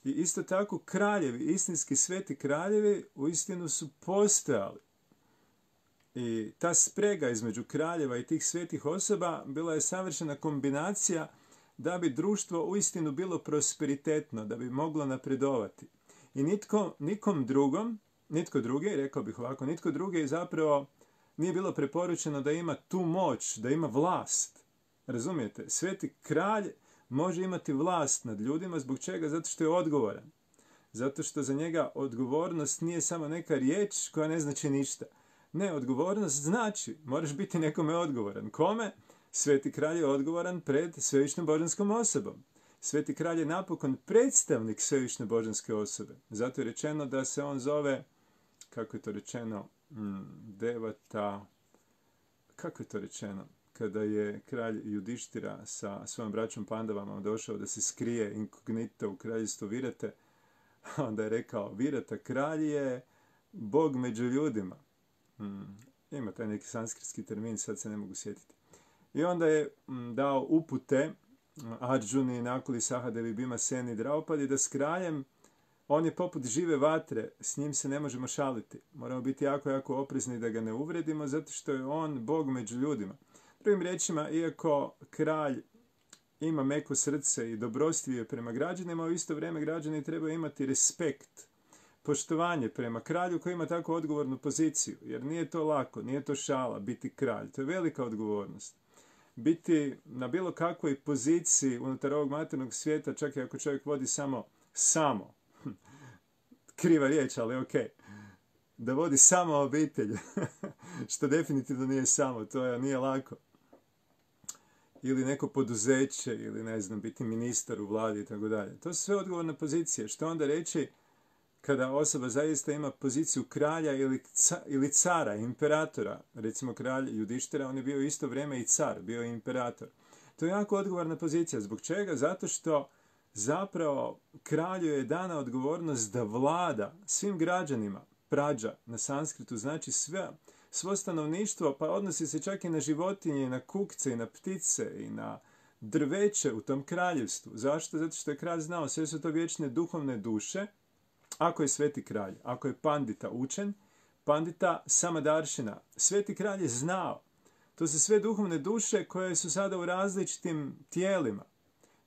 I isto tako kraljevi, istinski sveti kraljevi, uistinu su postojali. I ta sprega između kraljeva i tih svetih osoba bila je savršena kombinacija da bi društvo uistinu bilo prosperitetno, da bi moglo napredovati. I nitko drugi, rekao bih ovako, nitko drugi zapravo nije bilo preporučeno da ima tu moć, da ima vlast. Razumijete? Sveti kralj može imati vlast nad ljudima, zbog čega? Zato što je odgovoran. Zato što za njega odgovornost nije samo neka riječ koja ne znači ništa. Ne, odgovornost znači, moraš biti nekome odgovoran. Kome? Sveti kralj je odgovoran pred svevišnjom božanskom osobom. Sveti kralj je napokon predstavnik svevišnje božanske osobe. Zato je rečeno da se on zove, kako je to rečeno, Devata, kako je to rečeno? Kada je kralj Judištira sa svojom braćom Pandavama došao da se skrije inkognito u kraljestvu Virate, onda je rekao, Virata kralj je Bog među ljudima. Ima taj neki sanskritski termin, sad se ne mogu sjetiti. I onda je dao upute Arjuni, Nakuli, Sahadevi, Bima, Seni, Draupadi, da s kraljem, on je poput žive vatre, s njim se ne možemo šaliti. Moramo biti jako, jako oprezni da ga ne uvredimo, zato što je on Bog među ljudima. Drugim riječima, iako kralj ima meko srce i dobrostivije prema građanima, u isto vrijeme građani trebaju imati respekt, poštovanje prema kralju koji ima tako odgovornu poziciju. Jer nije to lako, nije to šala biti kralj. To je velika odgovornost. Biti na bilo kakvoj poziciji unutar ovog materijalnog svijeta, čak i ako čovjek vodi samo, kriva riječ, ali ok, da vodi samo obitelj, što definitivno nije samo, to nije lako. Ili neko poduzeće, ili ne znam, biti ministar u vladi i tako dalje. To su sve odgovorne pozicije. Što onda reći kada osoba zaista ima poziciju kralja ili cara, imperatora? Recimo kralj Judištira, on je bio isto vrijeme i car, bio je imperator. To je jako odgovorna pozicija. Zbog čega? Zato što zapravo kralju je dana odgovornost da vlada svim građanima. Prađa na sanskritu znači svo stanovništvo, pa odnosi se čak i na životinje, i na kukce, i na ptice, i na drveće u tom kraljevstvu. Zašto? Zato što je kralj znao, sve su to vječne duhovne duše. Ako je sveti kralj, ako je pandita učen, pandita samadaršina. Sveti kralj je znao. To su sve duhovne duše koje su sada u različitim tijelima.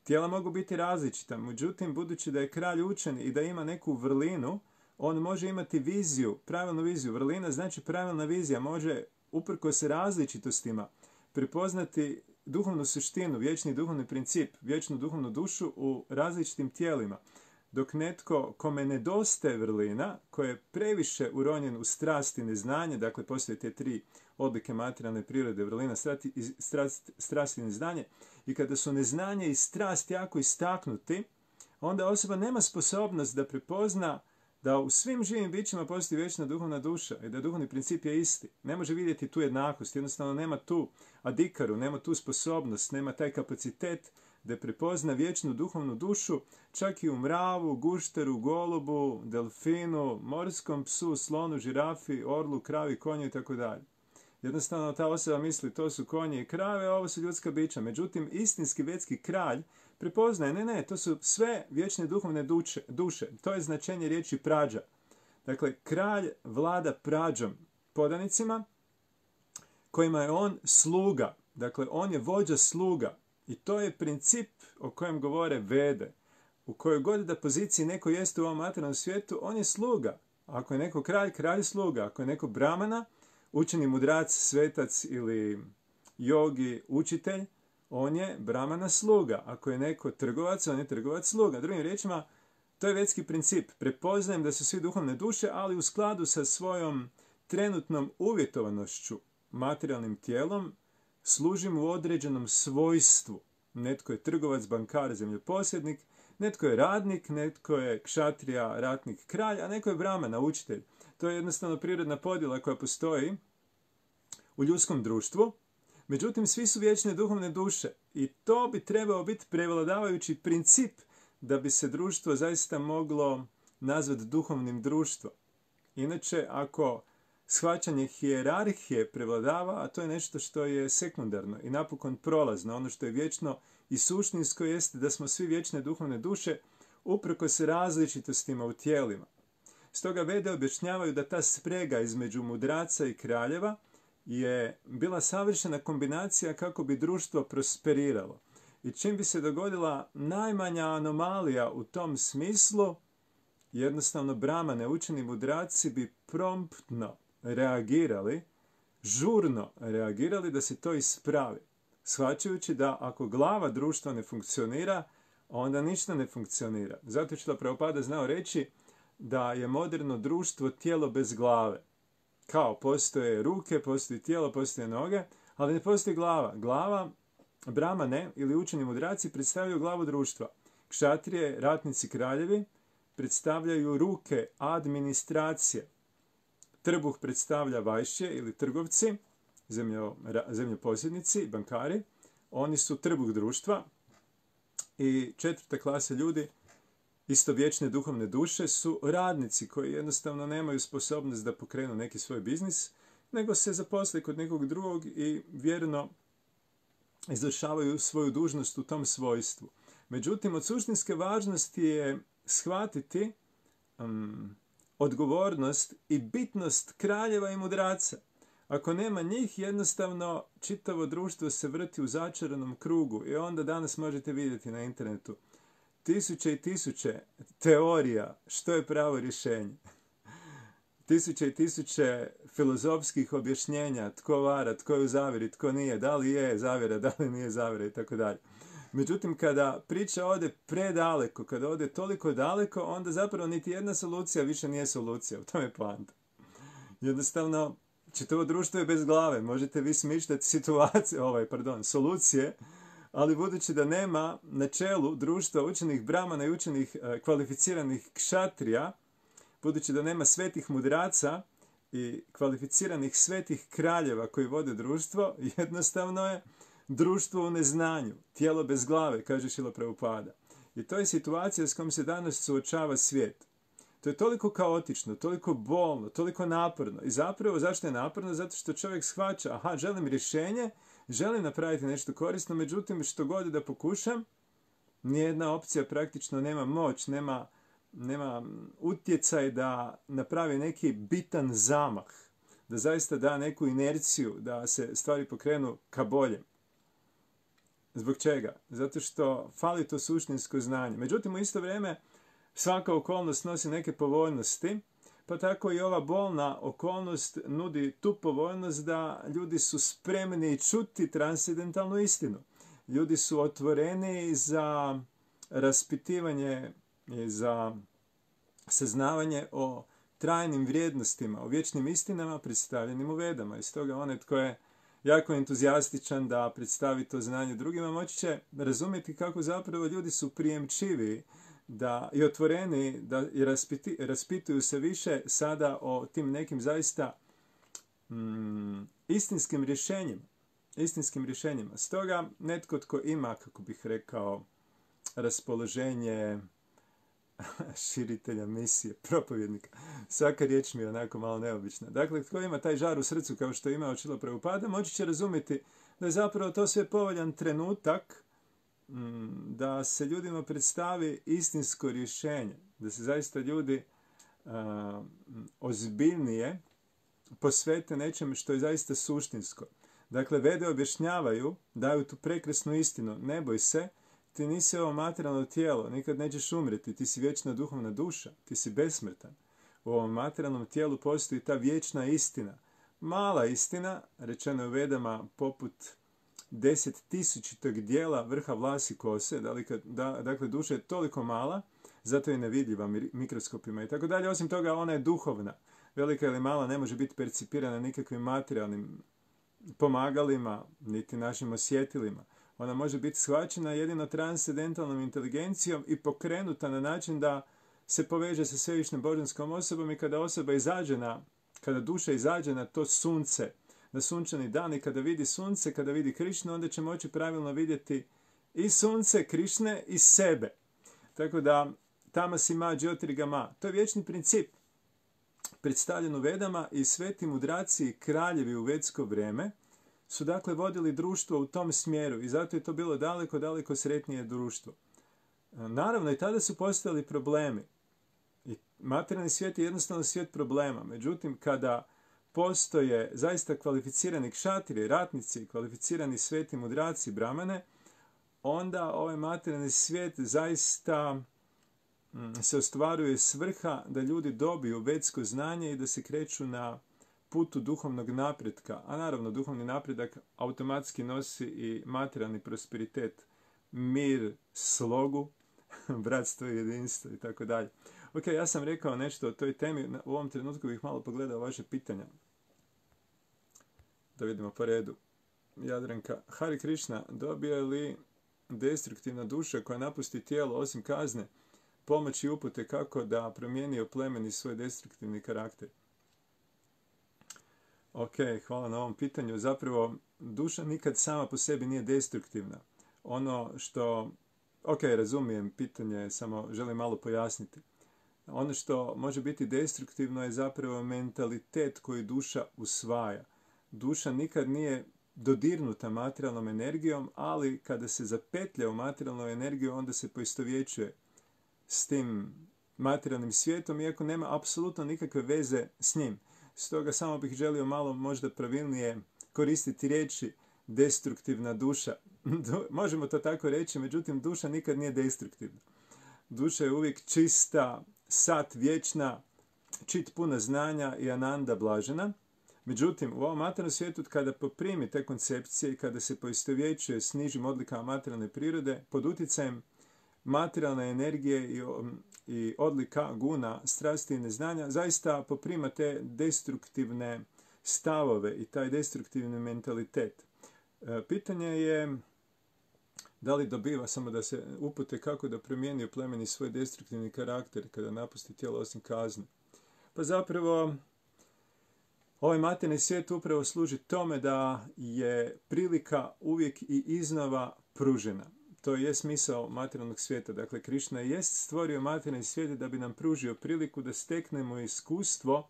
Tijela mogu biti različita, međutim, budući da je kralj učen i da ima neku vrlinu, on može imati viziju, pravilnu viziju. Vrlina znači pravilna vizija, može uprkos različitostima prepoznati duhovnu suštinu, vječni duhovni princip, vječnu duhovnu dušu u različitim tijelima. Dok netko kome nedostaje vrlina, koji je previše uronjen u strast i neznanje, dakle postoje te tri odlike materijalne prirode, vrlina, strast i neznanje, i kada su neznanje i strast jako istaknuti, onda osoba nema sposobnost da prepozna da u svim živim bićima postoji vječna duhovna duša i da duhovni princip je isti. Ne može vidjeti tu jednakost, jednostavno nema tu adikaru, nema tu sposobnost, nema taj kapacitet da prepozna vječnu duhovnu dušu čak i u mravu, gušteru, golubu, delfinu, morskom psu, slonu, žirafi, orlu, kravi, konju i tako dalje. Jednostavno ta osoba misli to su konje i krave, a ovo su ljudska bića. Međutim, istinski vjetski kralj prepoznaje, ne, to su sve vječne duhovne duše. To je značenje riječi prađa. Dakle, kralj vlada prađom, podanicima, kojima je on sluga. Dakle, on je vođa sluga. I to je princip o kojem govore Vede. U kojoj god da poziciji neko jeste u ovom materijalnom svijetu, on je sluga. Ako je neko kralj, kralj sluga. Ako je neko brahmana, učeni mudrac, svetac ili jogi, učitelj, on je brahmana sluga. Ako je neko trgovac, on je trgovac sluga. Drugim riječima, to je vedski princip. Prepoznajem da su svi duhovne duše, ali u skladu sa svojom trenutnom uvjetovanošću, materijalnim tijelom, služim u određenom svojstvu. Netko je trgovac, bankar, zemljoposjednik, netko je radnik, netko je kšatrija, ratnik, kralj, a neko je brahmana, učitelj. To je jednostavno prirodna podjela koja postoji u ljudskom društvu. Međutim, svi su vječne duhovne duše i to bi trebao biti prevladavajući princip da bi se društvo zaista moglo nazvati duhovnim društvom. Inače, ako shvaćanje hijerarhije prevladava, a to je nešto što je sekundarno i napokon prolazno, ono što je vječno i suštinsko jeste da smo svi vječne duhovne duše uprkos različitostima u tijelima. Stoga Vede objašnjavaju da ta sprega između mudraca i kraljeva je bila savršena kombinacija kako bi društvo prosperiralo. I čim bi se dogodila najmanja anomalija u tom smislu, jednostavno brahmane, učeni mudraci bi promptno reagirali, žurno reagirali da se to ispravi. Shvaćajući da ako glava društva ne funkcionira, onda ništa ne funkcionira. Zato što Prabhupada znao reći da je moderno društvo tijelo bez glave. Kao postoje ruke, postoji tijelo, postoje noge, ali ne postoji glava. Glava, brahmane ili učeni mudraci predstavljaju glavu društva. Kšatrije, ratnici, kraljevi predstavljaju ruke administracije. Trbuh predstavlja vajšće ili trgovci, zemljoposjednici, bankari. Oni su trbuh društva. I četvrta klasa ljudi, istovječne duhovne duše, su radnici koji jednostavno nemaju sposobnost da pokrenu neki svoj biznis, nego se zaposle kod nekog drugog i vjerno izvršavaju svoju dužnost u tom svojstvu. Međutim, od suštinske važnosti je shvatiti odgovornost i bitnost kraljeva i mudraca. Ako nema njih, jednostavno čitavo društvo se vrti u začaranom krugu i onda danas možete vidjeti na internetu tisuće i tisuće teorija što je pravo rješenje. Tisuće i tisuće filozofskih objašnjenja tko vara, tko je u zavjeri, tko nije, da li je zavjera, da li nije zavjera i tako dalje. Međutim, kada priča ode predaleko, kada ode toliko daleko, onda zapravo niti jedna solucija više nije solucija. U tome je poanta. Jednostavno, čitavo društvo je bez glave. Možete vi smišljati solucije, ali budući da nema na čelu društva učenih brahmana i učenih kvalificiranih kšatrija, budući da nema svetih mudraca i kvalificiranih svetih kraljeva koji vode društvo, jednostavno je društvo u neznanju, tijelo bez glave, kaže Šrila Prabhupada. I to je situacija s kojom se danas suočava svijet. To je toliko kaotično, toliko bolno, toliko naporno. I zapravo, zašto je naporno? Zato što čovjek shvaća, želim rješenje, želim napraviti nešto korisno, međutim, što god da pokušam, nijedna opcija praktično nema moć, nema utjecaj da napravi neki bitan zamah, da zaista da neku inerciju, da se stvari pokrenu ka boljem. Zbog čega? Zato što fali to suštinsko znanje. Međutim, u isto vrijeme svaka okolnost nosi neke povoljnosti, pa tako i ova bolna okolnost nudi tu povoljnost da ljudi su spremni čuti transcendentalnu istinu. Ljudi su otvoreni za raspitivanje i za saznavanje o trajnim vrijednostima, o vječnim istinama predstavljenim u Vedama. I stoga onaj tko je jako entuzijastičan da predstavi to znanje drugima, moći će razumjeti kako zapravo ljudi su prijemčivi i otvoreni da raspituju se više sada o tim nekim zaista istinskim rješenjima. Stoga netko tko ima, kako bih rekao, raspoloženje širitelja misije, propovjednika. Svaka riječ mi je onako malo neobična. Dakle, tko ima taj žar u srcu kao što ima Šrila Prabhupada, moći će razumjeti da je zapravo to sve povoljan trenutak da se ljudima predstavi istinsko rješenje, da se zaista ljudi ozbiljnije posvete nečem što je zaista suštinsko. Dakle, Vede objašnjavaju, daju tu prekrasnu istinu, ne boj se, ti nisi ovo materijalno tijelo, nikad nećeš umreti, ti si vječna duhovna duša, ti si besmrtan. u ovom materijalnom tijelu postoji ta vječna istina. Mala istina, rečeno je u Vedama, poput 10.000 dijela vrha vlasi kose, dakle duša je toliko mala, zato je nevidljiva mikroskopima i tako dalje. Osim toga, ona je duhovna. Velika ili mala ne može biti percipirana nikakvim materijalnim pomagalima, niti našim osjetilima. Ona može biti shvaćena jedino transcendentalnom inteligencijom i pokrenuta na način da se poveže sa svevišnjom božanskom osobom i kada duša izađe na to sunce, na sunčani dan i kada vidi sunce, kada vidi Krišnu, onda će moći pravilno vidjeti i sunce, Krišne i sebe. Tako da, tamasi ma džiotirgama, to je vječni princip predstavljen u Vedama i sveti mudraci i kraljevi u vedsko vrijeme su dakle vodili društvo u tom smjeru i zato je to bilo daleko, daleko sretnije društvo. Naravno, i tada su postojali problemi. I materijalni svijet je jednostavno svijet problema. Međutim, kada postoje zaista kvalificirani kšatiri, ratnici, kvalificirani sveti mudraci, brahmane, onda ovaj materijalni svijet zaista se ostvaruje svrha da ljudi dobiju vedsko znanje i da se kreću na putu duhovnog napretka. A naravno, duhovni napredak automatski nosi i materijalni prosperitet, mir, slogu, bratstvo i jedinstvo i tako dalje. Ok, ja sam rekao nešto o toj temi. U ovom trenutku bih malo pogledao vaše pitanja. Da vidimo po redu. Jadranka, Hari Krišna, dobije li destruktivna duša koja napusti tijelo osim kazne pomoć i upute kako da promijeni oplemeni svoj destruktivni karakter? Ok, hvala na ovom pitanju. Zapravo, duša nikad sama po sebi nije destruktivna. Ono što... Ok, razumijem pitanje, samo želim malo pojasniti. Ono što može biti destruktivno je zapravo mentalitet koji duša usvaja. Duša nikad nije dodirnuta materijalnom energijom, ali kada se zapetlja u materijalnu energiju, onda se poistovjećuje s tim materijalnim svijetom, iako nema apsolutno nikakve veze s njim. Stoga samo bih želio malo možda pravilnije koristiti riječi destruktivna duša. Možemo to tako reći, međutim duša nikad nije destruktivna. Duša je uvijek čista, sat vječna, čit puna znanja i ananda blažena. Međutim, u ovom materijalnom svijetu kada poprimi te koncepcije i kada se poistovjećuje s nižim odlikama materijalne prirode, pod utjecajem materijalne energije i odlika guna, strasti i neznanja, zaista poprima te destruktivne stavove i taj destruktivni mentalitet. Pitanje je da li dobiva, samo da se upute kako da promijeni u plemeni svoj destruktivni karakter kada napusti tijelo osim kazne. Pa zapravo, ovaj materijalni svijet upravo služi tome da je prilika uvijek i iznova pružena. To je smisao materijalnog svijeta. Dakle, Krišna jest stvorio materijalni svijet da bi nam pružio priliku da steknemo iskustvo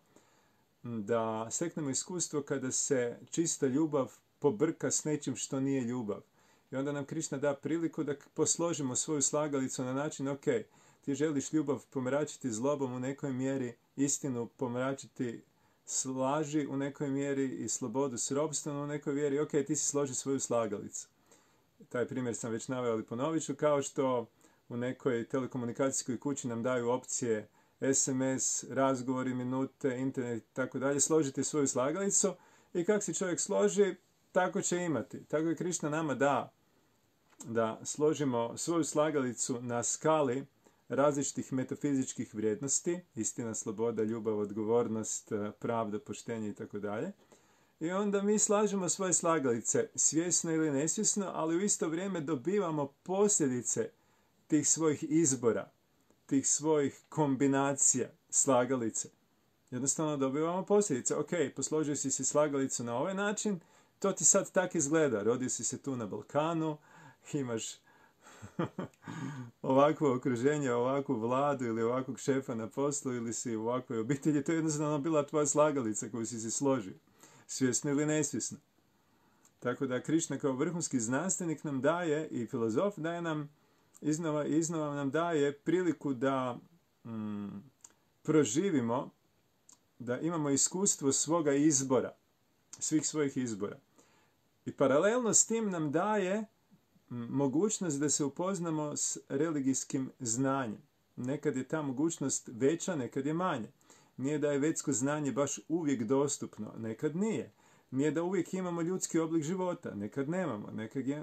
kada se čista ljubav pobrka s nečim što nije ljubav. I onda nam Krišna da priliku da posložimo svoju slagalicu na način, ok, ti želiš ljubav pomračiti zlobom u nekoj mjeri, istinu pomračiti s laži u nekoj mjeri i slobodu s robstvom u nekoj mjeri, ok, ti si složi svoju slagalicu. Taj primjer sam već naveo, ali ponovit ću, kao što u nekoj telekomunikacijskoj kući nam daju opcije SMS, razgovori, minute, internet i tako dalje, složite svoju slagalicu i kako se čovjek složi, tako će imati. Tako je Krišna nama da složimo svoju slagalicu na skali različitih metafizičkih vrijednosti, istina, sloboda, ljubav, odgovornost, pravda, poštenje i tako dalje. I onda mi slažemo svoje slagalice, svjesno ili nesvjesno, ali u isto vrijeme dobivamo posljedice tih svojih izbora, tih svojih kombinacija slagalice. Jednostavno dobivamo posljedice. Ok, posložio si slagalicu na ovaj način, to ti sad tak izgleda. Rodio si se tu na Balkanu, imaš ovakvo okruženje, ovakvu vladu ili ovakvog šefa na poslu ili si u ovakvoj obitelji. To je jednostavno bila tvoja slagalica koju si složio, svjesno ili nesvjesno. Tako da Krišna kao vrhunski znanstvenik nam daje i filozof daje nam iznova nam daje priliku da proživimo, da imamo iskustvo svoga izbora, svih svojih izbora. I paralelno s tim nam daje mogućnost da se upoznamo s religijskim znanjem. Nekad je ta mogućnost veća, nekad je manja. Nije da je vetsko znanje baš uvijek dostupno, nekad nije. Nije da uvijek imamo ljudski oblik života, nekad nemamo,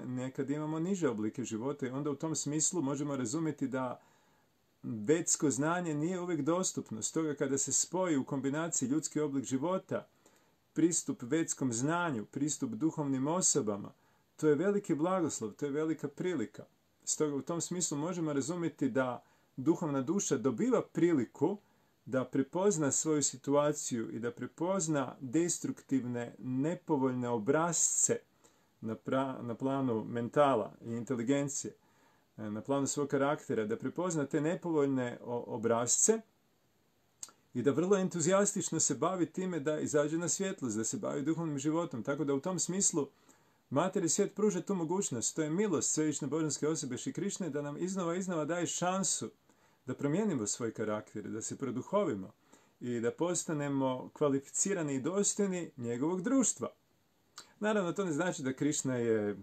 nekad imamo niže oblike života i onda u tom smislu možemo razumjeti da vetsko znanje nije uvijek dostupno. Stoga kada se spoji u kombinaciji ljudski oblik života, pristup vetskom znanju, pristup duhovnim osobama, to je veliki blagoslov, to je velika prilika. Stoga u tom smislu možemo razumjeti da duhovna duša dobiva priliku da prepozna svoju situaciju i da prepozna destruktivne, nepovoljne obrasce na planu mentala i inteligencije, na planu svog karaktera, da prepozna te nepovoljne obrasce i da vrlo entuzijastično se bavi time da izađe na svjetlost, da se bavi duhovnim životom. Tako da u tom smislu Mater i svijet pruža tu mogućnost. To je milost svevišnje božanske osobe Šri Krišne da nam iznova daje šansu da promijenimo svoj karakter, da se produhovimo i da postanemo kvalificirani i dostojni njegovog društva. Naravno, to ne znači da Krišna je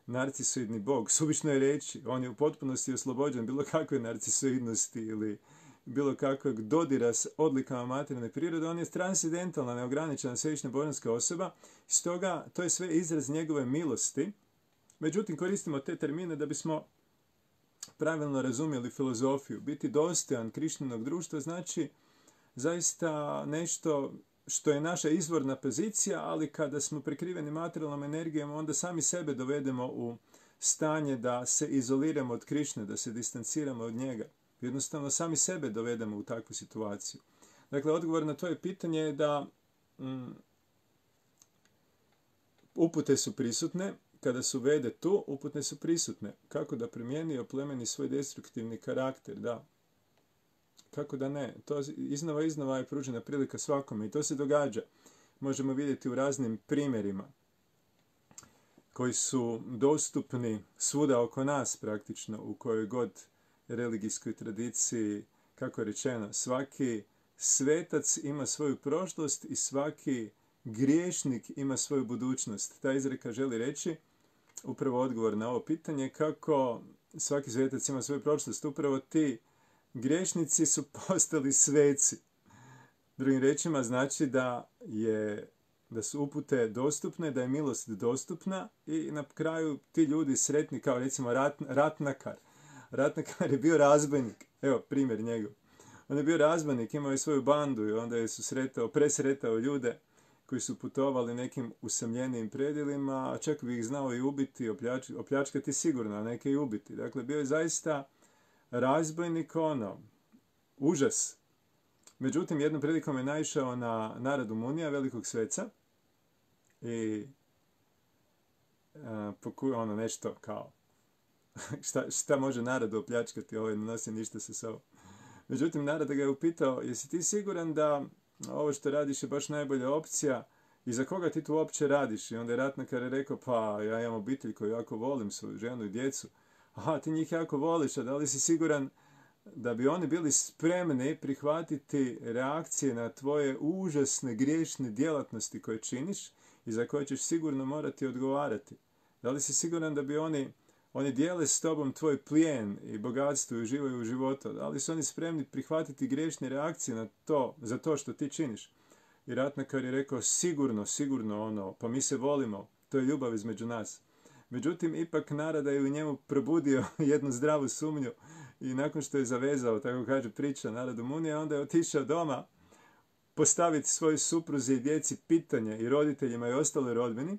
narcisoidni bog. Suvišno je reći, on je u potpunosti oslobođen bilo kakve narcisoidnosti ili bilo kakvog dodira s odlikama materijalne prirode. On je transcendentalna, neograničena svevišnja božanska osoba. Stoga, to je sve izraz njegove milosti. Međutim, koristimo te termine da bismo pravilno razumjeli filozofiju. Biti dostojan Krišninog društva znači zaista nešto što je naša izvorna pozicija, ali kada smo prekriveni materijalnom energijom, onda sami sebe dovedemo u stanje da se izoliramo od Krišne, da se distanciramo od njega. Jednostavno sami sebe dovedemo u takvu situaciju. Dakle, odgovor na to je pitanje je da upute su prisutne. Kada su vede tu, upute su prisutne. Kako da primijeni i oplemeni svoj destruktivni karakter, da. Kako da ne? To iznova je pružena prilika svakome i to se događa. Možemo vidjeti u raznim primjerima koji su dostupni svuda oko nas praktično, u kojoj god religijskoj tradiciji, kako je rečeno, svaki svetac ima svoju prošlost i svaki griješnik ima svoju budućnost. Ta izreka želi reći upravo odgovor na ovo pitanje, kako svaki svetac ima svoju prošlost. Upravo ti griješnici su postali sveci. Drugim riječima znači da su upute dostupne, da je milost dostupna i na kraju ti ljudi sretni, kao recimo Ratnakar. Ratnakar je bio razbojnik. Evo primjer njegov. On je bio razbojnik, imao je svoju bandu i onda je presretao ljude koji su putovali nekim usamljenijim predjelima, a čak bi ih znao i ubiti, opljačkati sigurno, a neke i ubiti. Dakle, bio je zaista razbojnik, užas. Međutim, jednom prilikom je naišao na Naradu Munija, velikog sveca, i nešto kao, šta može Naradu opljačkati, ne nosi ništa sa sobom. Međutim, Narada ga je upitao, jesi ti siguran da ovo što radiš je baš najbolja opcija i za koga ti tu uopće radiš? I onda je Ratnakar rekao, pa ja imam obitelj koju jako volim, svoju ženu i djecu. Aha, ti njih jako voliš, a da li si siguran da bi oni bili spremni prihvatiti reakcije na tvoje užasne griješne djelatnosti koje činiš i za koje ćeš sigurno morati odgovarati? Da li si siguran da bi oni dijele s tobom tvoj plijen i bogatstvo i uživaju u životu? Da li su oni spremni prihvatiti griješne reakcije za to što ti činiš? I Ratnakar je rekao, sigurno, pa mi se volimo, to je ljubav između nas. Međutim, ipak Narada je u njemu probudio jednu zdravu sumnju i nakon što je zavezao, tako kaže priča Naradu Munija, onda je otišao doma postaviti svojoj supruzi i djeci pitanje i roditeljima i ostaloj rodbini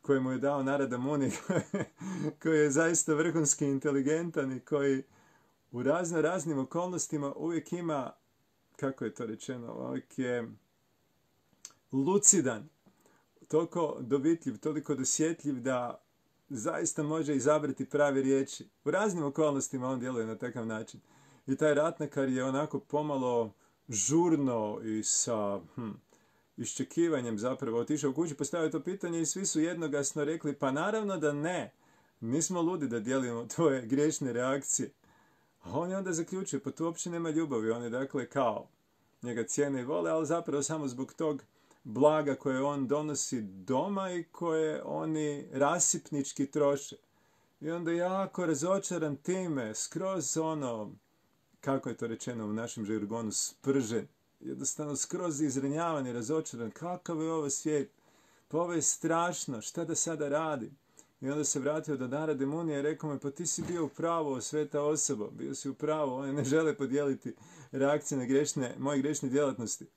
koje mu je dao Narada Muni, koji je zaista vrhunski inteligentan i koji u raznim okolnostima uvijek ima, kako je to rečeno, uvijek je lucidan, toliko dovitljiv, toliko dosjetljiv da zaista može izabrati prave riječi. U raznim okolnostima on djeluje na takav način. I taj Ratnakar je onako pomalo žurno i sa iščekivanjem zapravo otišao u kući, postavio to pitanje i svi su jednoglasno rekli, pa naravno da ne, nismo ludi da dijelimo tvoje griješne reakcije. A on je onda zaključio, pa tu uopće nema ljubavi, on je dakle kao njega cijene i vole, ali zapravo samo zbog tog blaga koje on donosi doma i koje oni rasipnički troše. I onda jako razočaran time, skroz kako je to rečeno u našem žargonu, spržen. jednostavno skroz izranjavan i razočaran. Kakav je ovo svijet? Pa ovo je strašno, šta da sada radim? I onda se vratio do Narada Munija i rekao mu, pa ti si bio u pravu, sveta osoba, bio si u pravu, oni ne žele podijeliti reakcije na moje grešne djelatnosti.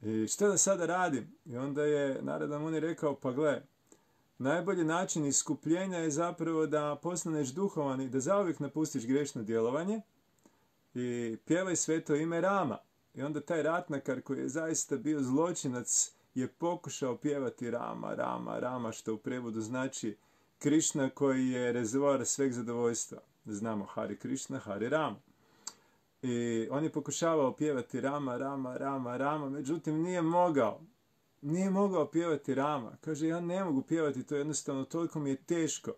I šta da sada radim? I onda je Narada Muni rekao, pa gle, najbolji način iskupljenja je zapravo da postaneš duhovan i da zauvijek napustiš grešno djelovanje i pjevaj sveto ime Rama. I onda taj ratnakar koji je zaista bio zločinac je pokušao pjevati Rama, Rama, Rama, što u prevodu znači Krišna koji je rezervoar sveg zadovoljstva. Znamo Hari Krišna, Hari Rama. I on je pokušavao pjevati Rama, Rama, Rama, Rama, međutim nije mogao. Nije mogao pjevati Rama. Kaže, ja ne mogu pjevati, to jednostavno toliko mi je teško.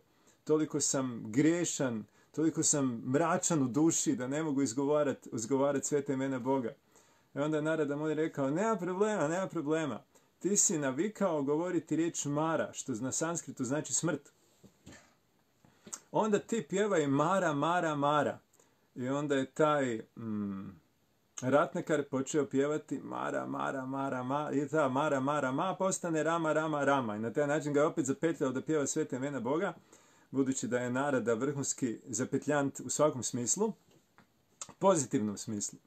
Toliko sam grešan, toliko sam mračan u duši da ne mogu izgovarati sveta imena Boga. I onda je Narada Muni rekao, nema problema. Ti si navikao govoriti riječ Mara, što na sanskritu znači smrt. Onda ti pjevaj Mara, Mara, Mara. I onda je taj ratnakar počeo pjevati Mara, Mara, Mara, Mara. I ta Mara, Mara, Ma postane Rama, Rama, Rama. I na taj način ga je opet zapetljao da pjeva sveta imena Boga, budući da je Narada vrhunski zapetljant u svakom smislu, pozitivnom smislu.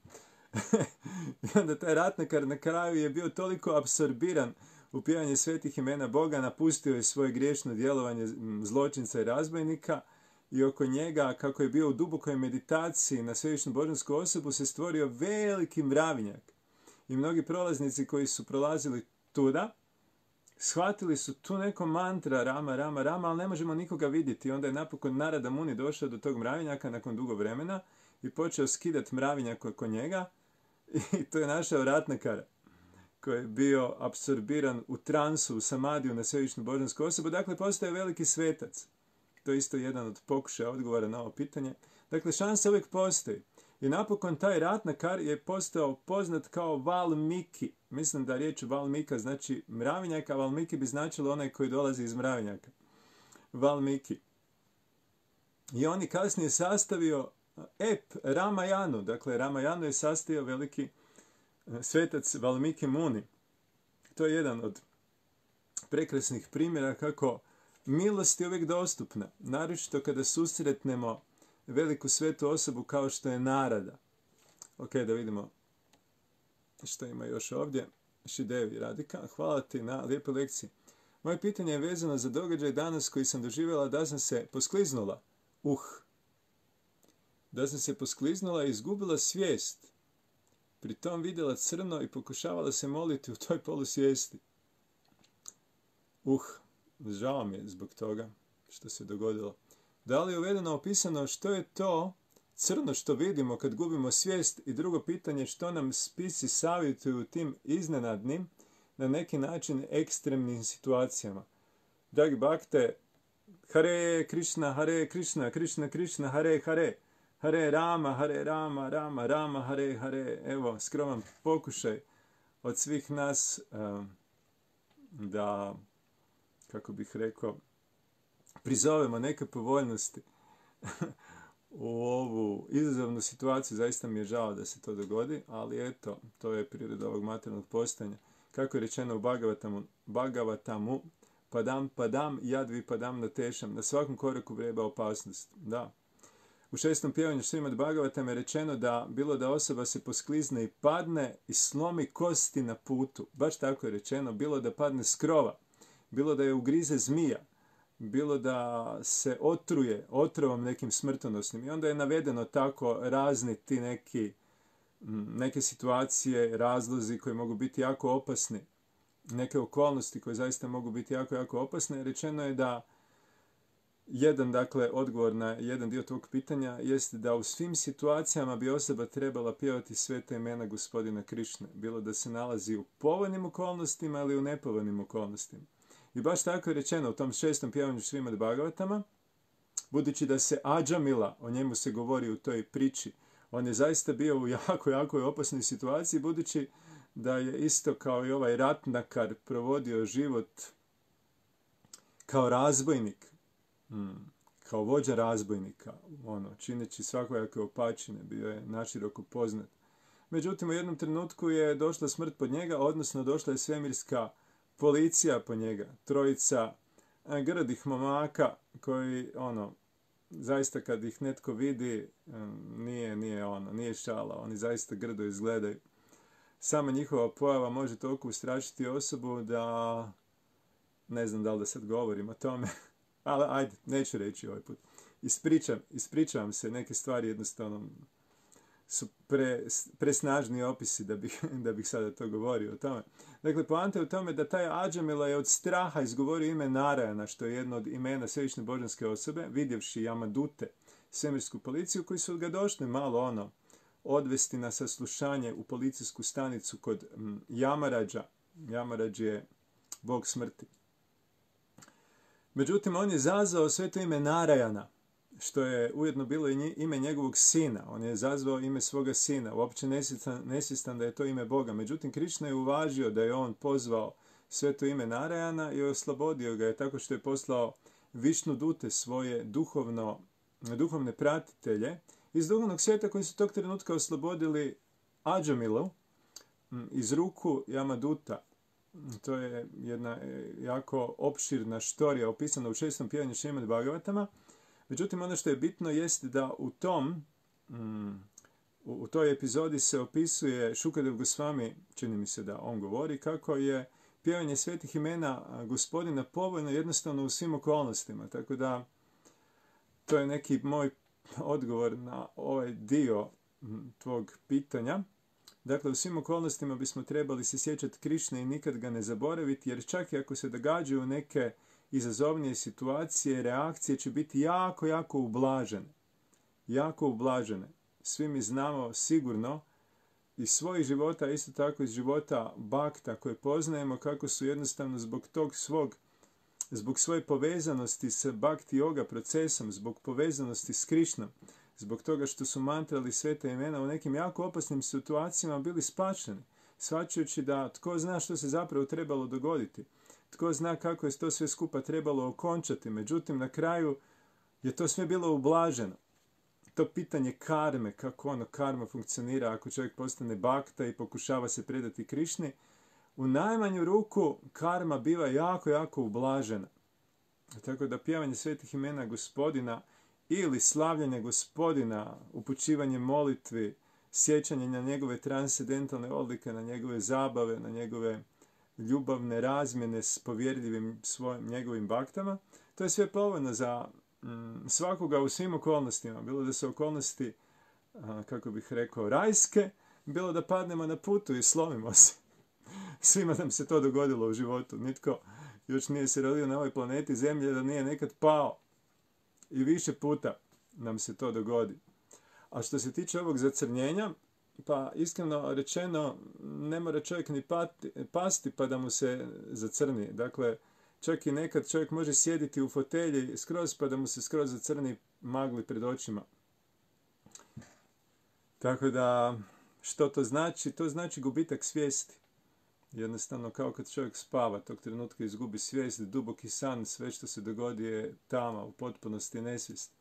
I onda taj ratnakar na kraju je bio toliko apsorbiran u pjevanje svetih imena Boga, napustio je svoje griješno djelovanje zločinca i razbojnika i oko njega, kako je bio u dubokoj meditaciji na svevišnju božansku osobu, se stvorio veliki mravinjak. I mnogi prolaznici koji su prolazili tuda, shvatili su tu neko mantra Rama, Rama, Rama, ali ne možemo nikoga vidjeti. I onda je napokon Narada Muni došao do tog mravinjaka nakon dugo vremena i počeo skidati mravinjak oko njega. I to je našao ratnakara koji je bio apsorbiran u transu, u samadiju na svevišnju božansku osobu. Dakle, postaje veliki svetac. To je isto jedan od pokušaja odgovora na ovo pitanje. Dakle, šansa uvijek postoji. I napokon taj ratnakar je postao poznat kao Valmiki. Mislim da riječ Valmika znači mravinjak, a Valmiki bi značilo onaj koji dolazi iz mravinjaka. Valmiki. I on je kasnije sastavio ep Ramayanu. Dakle, Ramayanu je sastavio veliki svetac Valmiki Muni. To je jedan od prekrasnih primjera kako milost je uvijek dostupna. Naročito kada susretnemo veliku svetu osobu kao što je Narada. Ok, da vidimo što ima još ovdje. Šidevi Radika, hvala ti na lijepoj lekciji. Moje pitanje je vezano za događaj danas koji sam doživjela da sam se poskliznula. Da sam se poskliznula i izgubila svijest. Pritom vidjela crno i pokušavala se moliti u toj polusvijesti. Žao mi je zbog toga što se dogodilo. Da li je uvedeno opisano što je to crno što vidimo kad gubimo svijest? I drugo pitanje, što nam spisi savjetuju tim iznenadnim, na neki način ekstremnim situacijama? Dragi bakte, Hare Krishna, Krishna Krishna, Hare Hare. Hare Rama, Rama, Rama, Hare Hare. Evo, skroman pokušaj od svih nas da, kako bih rekao, prizovemo neke povoljnosti u ovu izazovnu situaciju. Zaista mi je žao da se to dogodi, ali eto, to je priroda ovog materijalnog postojanja. Kako je rečeno u Bhagavatamu, padam, jadvi padam na tešam. Na svakom koraku vreba opasnost. Da. U 6. pjevanju Šrimad Bhagavatam je rečeno da bilo da osoba se posklizne i padne i slomi kosti na putu. Baš tako je rečeno. Bilo da padne s krova, bilo da je ugrize zmija, bilo da se otruje otrovom nekim smrtonosnim. I onda je navedeno tako razni ti neke situacije, razlozi koji mogu biti jako opasni. Neke okolnosti koje zaista mogu biti jako, jako opasne. Rečeno je da odgovor na jedan dio tog pitanja jeste da u svim situacijama bi osoba trebala pjevati sveta imena gospodina Krišne. Bilo da se nalazi u povoljnim okolnostima ili u nepovoljnim okolnostima. I baš tako je rečeno u tom 6. pjevanju Šrimad Bhagavatama, budući da se Adžamila, o njemu se govori u toj priči, on je zaista bio u jako, jako opasnoj situaciji, budući da je isto kao i ovaj ratnakar provodio život kao razbojnik, kao vođa razbojnika, čineći svakojake opačine, bio je naširoko poznat. Međutim, u jednom trenutku je došla smrt pod njega, odnosno došla je svemirska policija po njega. Trojica grdih momaka koji, zaista kad ih netko vidi, nije šala, oni zaista grdo izgledaju. Sama njihova pojava može toliko ustrašiti osobu da ne znam da li da sad govorim o tome, ali ajde, neću reći ovaj put. Ispričavam se, neke stvari jednostavno su presnažni opisi da bih sada to govorio o tome. Dakle, poanta je u tome da taj Adžamila je od straha izgovorio ime Narajana, što je jedno od imena svevišnje božanske osobe, vidjevši Jamadute, svemirsku policiju, koji su ga došli malo odvesti na saslušanje u policijsku stanicu kod Jamarađa. Jamarađ je bog smrti. Međutim, on je zazvao sve to ime Narajana, što je ujedno bilo i ime njegovog sina. On je zazvao ime svoga sina, uopće nesvjestan da je to ime Boga. Međutim, Krišna je uvažio da je on pozvao sve to ime Narajana i oslobodio ga je tako što je poslao Višnudute, svoje duhovne pratitelje iz duhovnog svijeta koji su tog trenutka oslobodili Adžamilu iz ruku Jamaduta. To je jedna jako opširna štorija opisana u 6. pjevanju Šrimad Bhagavatama. Međutim, ono što je bitno jest da u toj epizodi se opisuje Šukadev Gosvami, čini mi se da on govori, kako je pjevanje svetih imena Gospodina povoljno jednostavno u svim okolnostima. Tako da, to je neki moj odgovor na ovaj dio tvog pitanja. Dakle, u svim okolnostima bismo trebali se sjećati Krišne i nikad ga ne zaboraviti, jer čak i ako se događaju neke izazovnije situacije, reakcije će biti jako, jako ublažene. Jako ublažene. Svi mi znamo sigurno iz svojih života, a isto tako iz života bakta koje poznajemo, kako su jednostavno zbog svoje povezanosti s bhakti yoga procesom, zbog povezanosti s Krišnom, zbog toga što su mantrali sveta imena u nekim jako opasnim situacijama bili spašeni, shvaćajući da tko zna što se zapravo trebalo dogoditi. Tko zna kako je to sve skupa trebalo okončati, međutim na kraju je to sve bilo ublaženo. To pitanje karme, kako karma funkcionira ako čovjek postane bakta i pokušava se predati Krišni, u najmanju ruku karma biva jako, jako ublažena. Tako da pjevanje svetih imena Gospodina ili slavljanje Gospodina, upućivanje molitvi, sjećanje na njegove transcendentalne odlike, na njegove zabave, na njegove ljubavne razmjene s povjerljivim njegovim baktama, to je sve povoljno za svakoga u svim okolnostima. Bilo da su okolnosti, kako bih rekao, rajske, bilo da padnemo na putu i slomimo se. Svima nam se to dogodilo u životu. Nitko još nije se rodio na ovoj planeti Zemlje da nije nekad pao. I više puta nam se to dogodi. A što se tiče ovog zacrnjenja, pa iskreno rečeno, ne mora čovjek ni pasti pa da mu se zacrni. Dakle, čak i nekad čovjek može sjediti u fotelji skroz pa da mu se skroz zacrni magli pred očima. Tako da, što to znači? To znači gubitak svijesti. Jednostavno, kao kad čovjek spava, tog trenutka izgubi svijest, duboki san, sve što se dogodi je tama, u potpunosti nesvijest.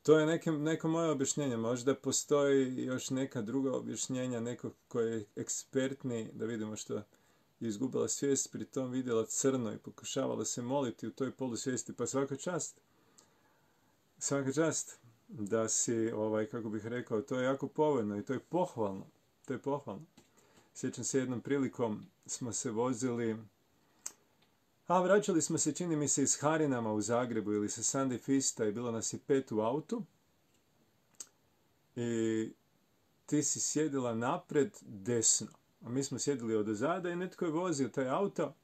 To je neko moje objašnjenje. Možda postoji još neka druga objašnjenja, neko koji je ekspertni, da vidimo što je izgubila svijest, pri tom vidjela crno i pokušavala se moliti u toj polusvijesti. Pa svaka čast da si, kako bih rekao, to je jako povoljno i to je pohvalno. To je pohvalno. Sjećam se jednom prilikom smo se vozili, vraćali smo se, čini mi se, iz Harinama u Zagrebu ili sa Sunday Fista i bilo nas je 5 u autu. I ti si sjedila napred desno, a mi smo sjedili odozada i netko je vozio taj auto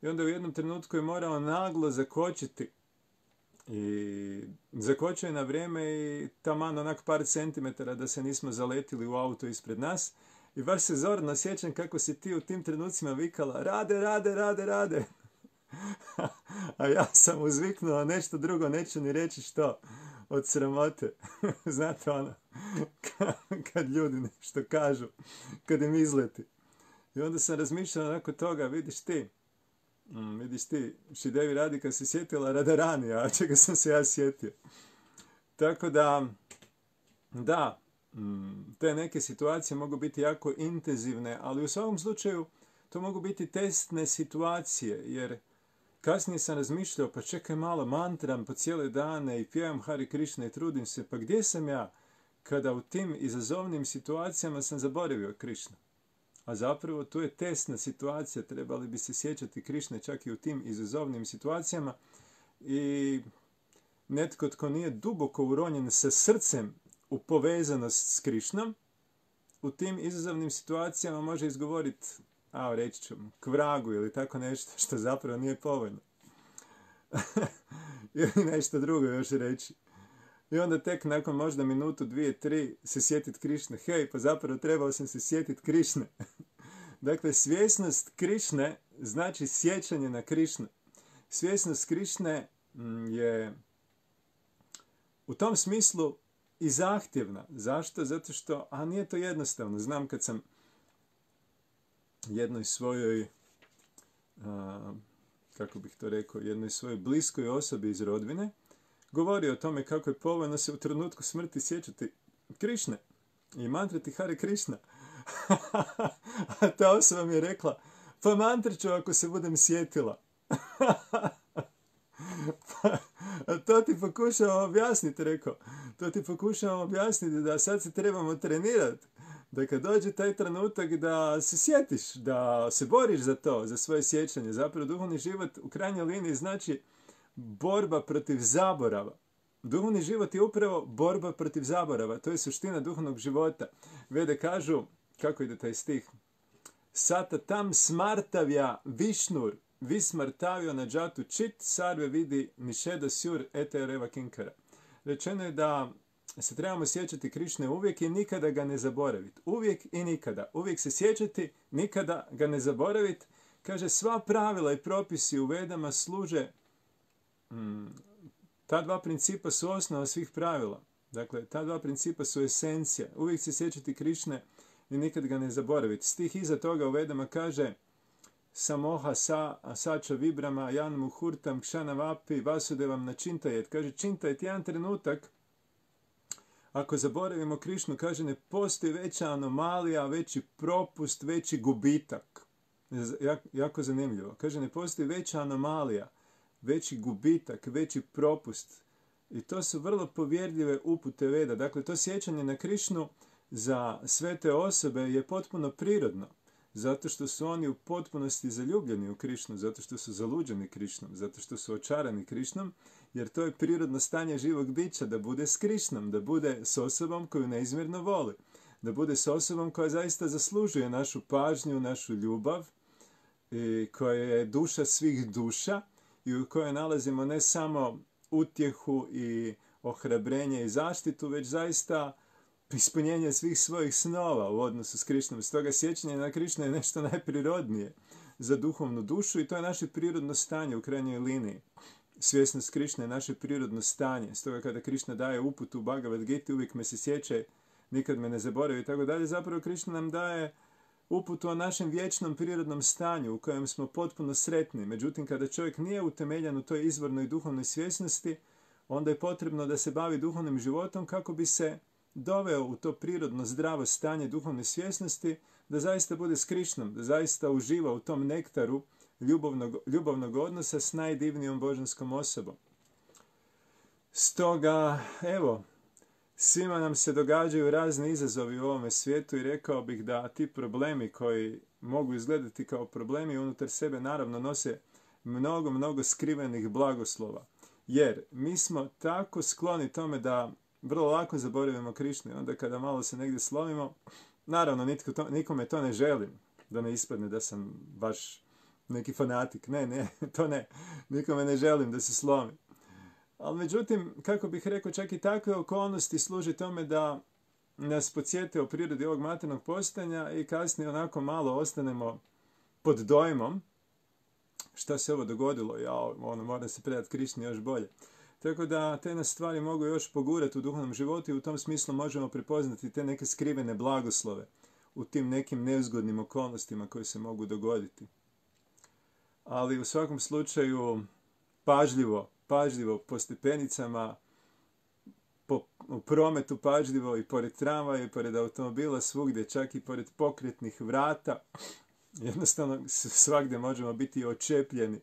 i onda u jednom trenutku je morao naglo zakočiti. I zakočio je na vrijeme i taman onak par centimetara da se nismo zaletili u auto ispred nas. I baš se zorno sjećam kako si ti u tim trenucima vikala rade. A ja sam uzviknuo nešto drugo, neću ni reći što, od sramote. Znate ono, kad ljudi nešto kažu, kad im izleti. I onda sam razmišljao nakon toga, vidiš ti, Šidevi Radika se sjetila Radarani, a čega sam se ja sjetio. Tako da, te neke situacije mogu biti jako intenzivne, ali u svakom slučaju to mogu biti testne situacije, jer kasnije sam razmišljao, pa čekaj malo, mantram po cijele dane i pjevam Hare Krishna i trudim se, pa gdje sam ja kada u tim izazovnim situacijama sam zaboravio Krishnu? A zapravo tu je testna situacija, trebali bi se sjećati Krišne čak i u tim izazovnim situacijama, i netko tko nije duboko uronjen sa srcem u povezanost s Krišnom, u tim izazovnim situacijama može izgovoriti, reći ću, kvragu ili tako nešto što zapravo nije povoljno. Ili nešto drugo još reći. I onda tek nakon možda minutu, 2, 3 se sjetiti Krišne. Hej, pa zapravo trebao sam se sjetiti Krišne. Dakle, svjesnost Krišne znači sjećanje na Krišnu. Svjesnost Krišne je u tom smislu i zahtjevna. Zašto? Zato što, nije to jednostavno. Znam kad sam jednoj svojoj, jednoj svojoj bliskoj osobi iz rodbine govorio o tome kako je povoljno se u trenutku smrti sjećati Krišne i mantrati Hare Krishna. A ta osoba mi je rekla, pa mantraću ako se budem sjetila. To ti pokušavam objasniti, rekao. To ti pokušavam objasniti da sad se trebamo trenirati. Da kad dođe taj trenutak da se sjetiš, da se boriš za to, za svoje sjećanje. Zapravo duhovni život u krajnjoj liniji znači borba protiv zaborava. Duhovni život je upravo borba protiv zaborava. To je suština duhovnog života. Vede kažu, kako ide taj stih? Sata tam smartavja višnur, vismartavio na džatu čit, sarve vidi nišeda sjur ete reva kinkara. Rečeno je da se trebamo sjećati Krišne uvijek i nikada ga ne zaboraviti. Uvijek i nikada. Uvijek se sjećati, nikada ga ne zaboraviti. Kaže, sva pravila i propisi u Vedama služe, ta dva principa su osnova svih pravila. Dakle, ta dva principa su esencija. Uvijek se sjećati Krišne i nikad ga ne zaboraviti. Stih iza toga u Vedama kaže, samoha sača vibrama jan muhurtam kšana vapi vasudevam na čintajet. Kaže, čintajet, jedan trenutak, ako zaboravimo Krišnu, kaže, ne postoji veća anomalija, veći propust, veći gubitak. Jako zanimljivo. Kaže, ne postoji veća anomalija, veći gubitak, veći propust. I to su vrlo povjerljive upute Veda. Dakle, to sjećanje na Krišnu za sve te osobe je potpuno prirodno. Zato što su oni u potpunosti zaljubljeni u Krišnu, zato što su zaluđeni Krišnom, zato što su očarani Krišnom, jer to je prirodno stanje živog bića, da bude s Krišnom, da bude s osobom koju neizmjerno voli, da bude s osobom koja zaista zaslužuje našu pažnju, našu ljubav, i koja je duša svih duša i u kojoj nalazimo ne samo utjehu i ohrabrenje i zaštitu, već zaista ispunjenje svih svojih snova u odnosu s Krišnom. Stoga sjećanje na Krišnu je nešto najprirodnije za duhovnu dušu i to je naše prirodno stanje u krajnjoj liniji. Svjesnost Krišne je naše prirodno stanje. Stoga kada Krišna daje uputu u Bhagavad Giti, uvijek me se sjećaj, nikad me ne zaboravi i tako dalje, zapravo Krišna nam daje uputu o našem vječnom prirodnom stanju u kojem smo potpuno sretni. Međutim, kada čovjek nije utemeljen u toj izvornoj duhovnoj svjesnosti, onda je potrebno da se bavi duhovnim životom kako bi se doveo u to prirodno zdravo stanje duhovne svjesnosti, da zaista bude s Krišnom, da zaista uživa u tom nektaru ljubavnog odnosa s najdivnijom božanskom osobom. Stoga, evo, svima nam se događaju razni izazovi u ovome svijetu i rekao bih da ti problemi koji mogu izgledati kao problemi unutar sebe naravno nose mnogo skrivenih blagoslova. Jer mi smo tako skloni tome da vrlo lako zaboravimo Krišnu i onda kada malo se negdje slomimo, naravno nikome to ne želim, da ne ispadne da sam baš neki fanatik. Ne, to ne. Nikome ne želim da se slomi. Ali međutim, kako bih rekao, čak i takve okolnosti služe tome da nas podsjete o prirodi ovog materijalnog postojanja i kasnije onako malo ostanemo pod dojmom šta se ovo dogodilo. Moram se predati Krišni još bolje. Tako da te nas stvari mogu još pogurati u duhovnom životu i u tom smislu možemo prepoznati te neke skrivene blagoslove u tim nekim nezgodnim okolnostima koje se mogu dogoditi. Ali u svakom slučaju pažljivo po stepenicama, u prometu pažljivo i pored tramvaja i pored automobila, svugdje, čak i pored pokretnih vrata. Jednostavno svagdje možemo biti očepljeni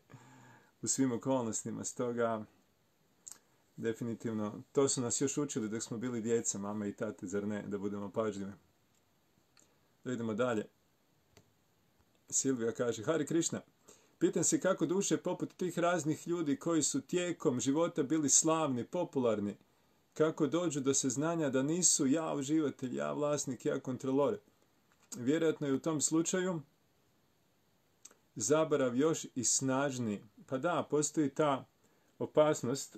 u svim okolnostima. Stoga, definitivno, to su nas još učili dok smo bili djeca, mama i tate, zar ne, da budemo pažljivi. Da idemo dalje. Silvija kaže, Hare Krishna, pitam se kako duše poput tih raznih ljudi koji su tijekom života bili slavni, popularni, kako dođu do saznanja da nisu ja uživatelj, ja vlasnik, ja kontrolor. Vjerojatno je u tom slučaju zaborav još i snažniji. Pa da, postoji ta opasnost,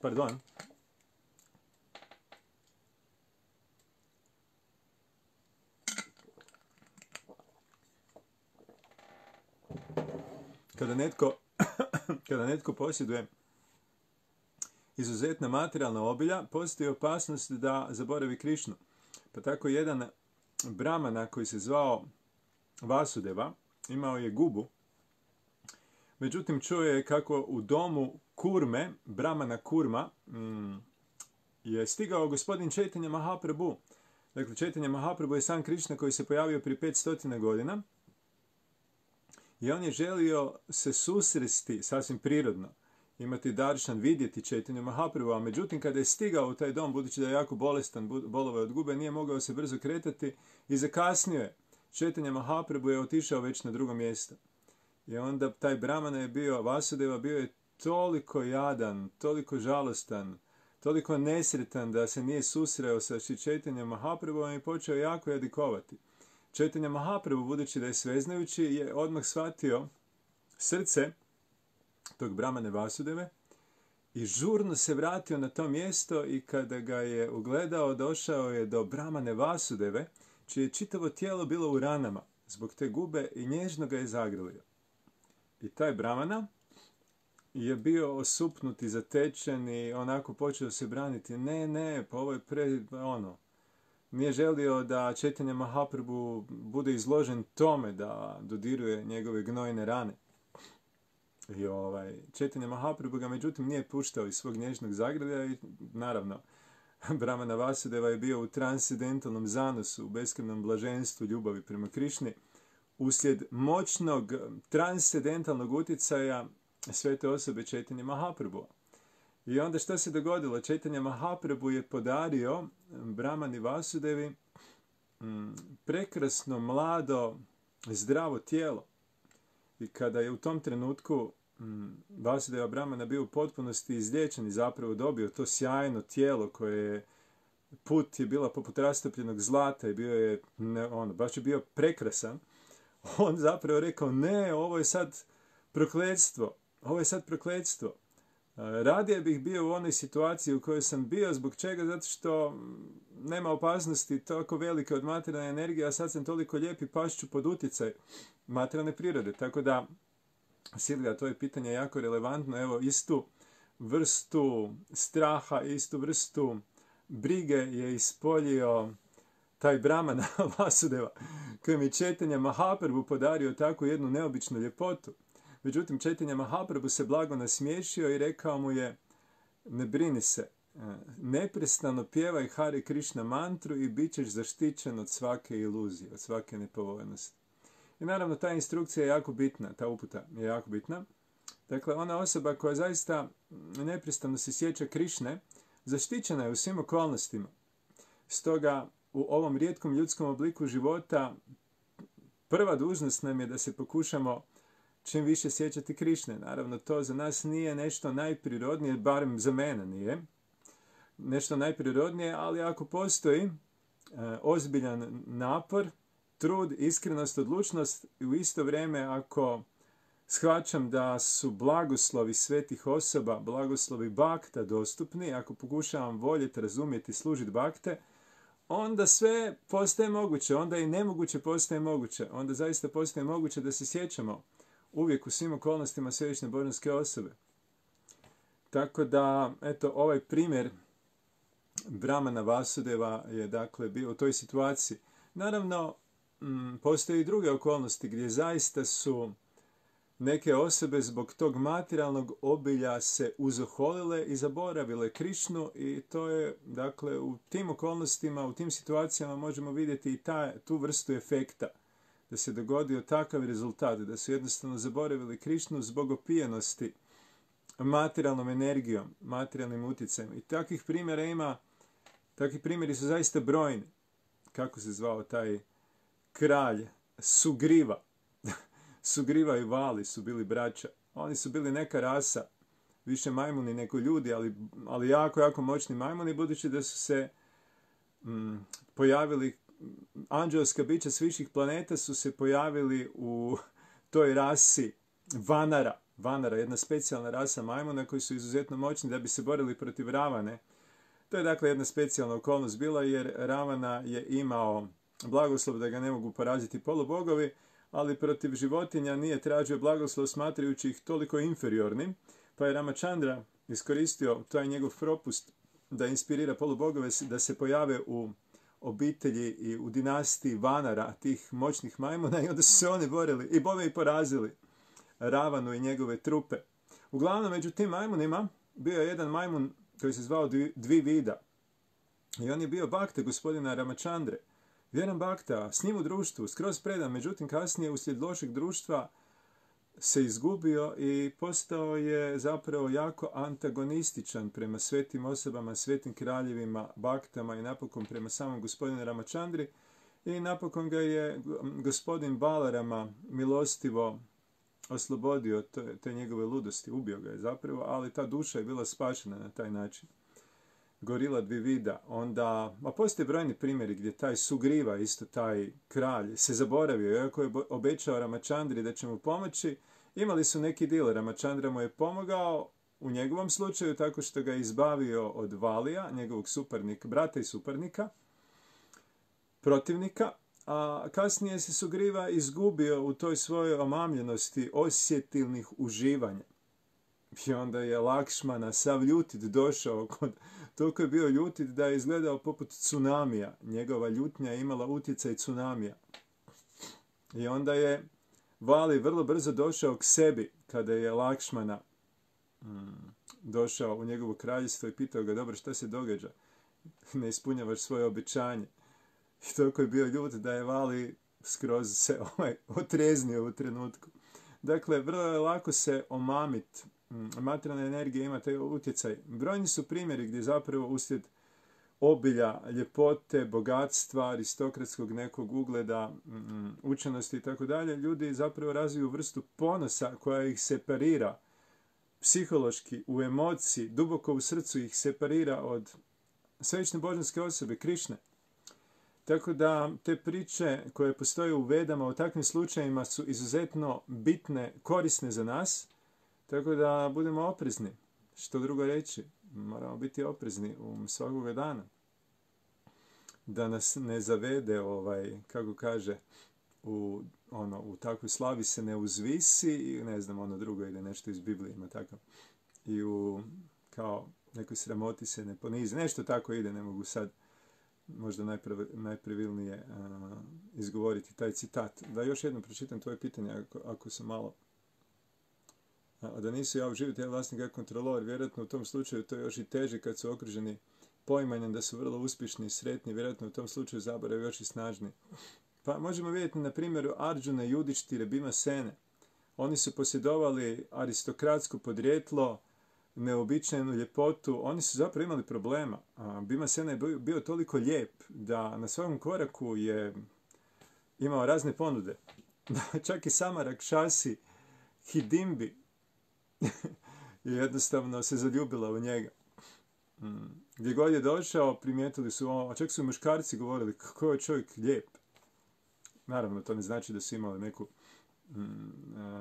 pardon, kada netko posjeduje izuzetna materijalna obilja, postoji opasnost da zaboravi Krišnu. Pa tako jedan brahmana koji se zvao Vasudeva imao je gubu. Međutim, čuo je kako u domu Kurme, brahmana Kurma, je stigao gospodin Chaitanya Mahaprabhu. Dakle, Chaitanya Mahaprabhu je sam Krišna koji se pojavio prije 500 godina. I on je želio se susresti, sasvim prirodno, imati daršan, vidjeti Chaitanya Mahaprabhu, a međutim kada je stigao u taj dom, budući da je jako bolestan, bolovao od gube, nije mogao se brzo kretati i zakasnio je. Chaitanya Mahaprabhu je otišao već na drugo mjesto. I onda taj brahmana je bio, Vasudeva, bio je toliko jadan, toliko žalostan, toliko nesretan da se nije susreo sa Chaitanya Mahaprabhuom i počeo jako jadikovati. Chaitanya Mahaprabhu, budući da je sveznajući, je odmah shvatio srce tog brahmane Vasudeve i žurno se vratio na to mjesto i kada ga je ugledao, došao je do brahmane Vasudeve, čije čitavo tijelo bilo u ranama zbog te gube i nježno ga je zagrlio. I taj brahmana je bio osupnut i zatečen i onako počeo se braniti. Ne, pa ovo je nije želio da Chaitanya Mahaprabhu bude izložen tome da dodiruje njegove gnojne rane. I Chaitanya Mahaprabhu ga međutim nije puštao iz svog nježnog zagrlja i naravno brahmana Vasudeva je bio u transcendentalnom zanosu, u beskrajnom blaženstvu ljubavi prema Krišni, uslijed moćnog transcendentalnog utjecaja svete osobe Chaitanya Mahaprabhu. I onda što se dogodilo? Chaitanya Mahaprabhu je podario brahmani Vasudevi prekrasno, mlado, zdravo tijelo. I kada je u tom trenutku Vasudeva brahmana bio u potpunosti izliječen i zapravo dobio to sjajno tijelo koje je, put je bila poput rastopljenog zlata i bio je, baš je bio prekrasan, on zapravo rekao, ne, ovo je sad prokletstvo. Radije bih bio u onoj situaciji u kojoj sam bio, zbog čega? Zato što nema opasnosti toliko velike od materijalne energije, a sad sam toliko lijep i pašću pod utjecaj materijalne prirode. Tako da, Silvija, to je pitanje jako relevantno. Evo, istu vrstu straha, istu vrstu brige je ispoljio taj brahmana Vasudeva, kojem je Chaitanya Mahaprabhu podario tako jednu neobičnu ljepotu. Međutim, Chaitanya Mahaprabhu se blago nasmiješio i rekao mu je, ne brini se, neprestano pjevaj Hare Krishna mantru i bit ćeš zaštićen od svake iluzije, od svake nepovoljnosti. I naravno, ta instrukcija je jako bitna, ta uputa je jako bitna. Dakle, ona osoba koja zaista neprestano se sjeća Krišne, zaštićena je u svim okolnostima. Stoga, u ovom rijetkom ljudskom obliku života, prva dužnost nam je da se pokušamo čim više sjećati Krišne. Naravno, to za nas nije nešto najprirodnije, barem za mene nije nešto najprirodnije, ali ako postoji ozbiljan napor, trud, iskrenost, odlučnost i u isto vrijeme ako shvaćam da su blagoslovi svetih osoba, blagoslovi bakta dostupni, ako pokušavam voljeti, razumjeti, služiti bakte, onda sve postaje moguće, onda i nemoguće postaje moguće, onda zaista postaje moguće da se sjećamo uvijek u svim okolnostima svevišnje božanske osobe. Tako da, eto, ovaj primjer brahmana Vasudeva je dakle bio u toj situaciji. Naravno, postoje i druge okolnosti gdje zaista su neke osobe zbog tog materijalnog obilja se uzoholile i zaboravile Krišnu i to je, dakle, u tim okolnostima, u tim situacijama možemo vidjeti i tu vrstu efekta. Da se dogodio takav rezultat, da su jednostavno zaboravili Krišnu zbog opijenosti materijalnom energijom, materijalnim utjecajem. I takvih primjera ima, takvi primjeri su zaista brojni. Kako se zvao taj kralj? Sugriva. Sugriva i Vali su bili braća. Oni su bili neka rasa, više majmuni nego ljudi, ali jako, jako moćni majmuni, budući da su se pojavili, anđelska bića s viših planeta su se pojavili u toj rasi Vanara. Vanara, jedna specijalna rasa majmuna koji su izuzetno moćni da bi se borili protiv Ravane. To je dakle jedna specijalna okolnost bila jer Ravana je imao blagoslov da ga ne mogu poraziti polubogovi, ali protiv životinja nije tražio blagoslov smatrajući ih toliko inferiornim, pa je Ramachandra iskoristio taj njegov propust da inspirira polubogove da se pojave u obitelji i u dinastiji Vanara, tih moćnih majmuna, i onda su se oni borili i bome i porazili Ravanu i njegove trupe. Uglavnom, među tim majmunima bio je jedan majmun koji se zvao Dvivida. I on je bio bakta gospodina Ramachandre. Vjeran bakta, s njim u društvu, skroz predan, međutim kasnije uslijed lošeg društva se izgubio i postao je zapravo jako antagonističan prema svetim osobama, svetim kraljevima, baktama i napokon prema samom gospodinu Ramachandri. I napokon ga je gospodin Balarama milostivo oslobodio te njegove ludosti, ubio ga je zapravo, ali ta duša je bila spašena na taj način. Gorila Dvivida, onda, postoje brojni primjeri gdje taj Sugriva, isto taj kralj, se zaboravio, iako je obećao Ramachandri da će mu pomoći, imali su neki deal, Ramachandra mu je pomogao u njegovom slučaju tako što ga je izbavio od Valija, njegovog suparnika, brata i suparnika, protivnika, a kasnije se Sugriva izgubio u toj svojoj omamljenosti osjetilnih uživanja. I onda je Lakšmana sav ljutit došao, toliko je bio ljutit da je izgledao poput tsunamija. Njegova ljutnja je imala utjecaj tsunamija. I onda je Vali vrlo brzo došao k sebi kada je Lakšmana došao u njegovo kraljevstvo i pitao ga, dobro, šta se događa? Ne ispunjavaš svoje obećanje. I toliko je bio ljut da je Vali skroz se otreznio u trenutku. Dakle, vrlo je lako se omamiti. Materijalna energija ima taj utjecaj. Brojni su primjeri gdje zapravo uslijed obilja, ljepote, bogatstva, aristokratskog nekog ugleda, učenosti i tako dalje, ljudi zapravo razviju vrstu ponosa koja ih separira psihološki, u emociji, duboko u srcu ih separira od svevične božanske osobe, Krišne. Tako da te priče koje postoje u Vedama u takvim slučajima su izuzetno bitne, korisne za nas, tako da budemo oprezni. Što drugo reći? Moramo biti oprezni svakoga dana. Da nas ne zavede, kako kaže, u takvoj slavi se ne uzvisi i ne znam, ono drugo ide nešto iz Biblije, ima takav. I u kao nekoj sramoti se ne ponizi. Nešto tako ide, ne mogu sad možda najpravilnije izgovoriti taj citat. Da još jednom pročitam tvoje pitanje, ako sam malo... A da nisu ja uživiti, ja vlasnik kao kontrolor, vjerojatno u tom slučaju to je još i teže kad su okruženi poimanjem da su vrlo uspješni i sretni, vjerojatno u tom slučaju zaborav još i snažni. Pa možemo vidjeti na primjeru Arjuna, Judištire, Bhimasene. Oni su posjedovali aristokratsko podrijetlo, neobičajnu ljepotu, oni su zapravo imali problema. Bhimasena je bio toliko lijep da na svakom koraku je imao razne ponude. Čak i sama Rakšasi Hidimbi je jednostavno se zaljubila u njega. Gdje god je došao, primijetili su, čak su i muškarci govorili kako je čovjek lijep. Naravno, to ne znači da su imali neku,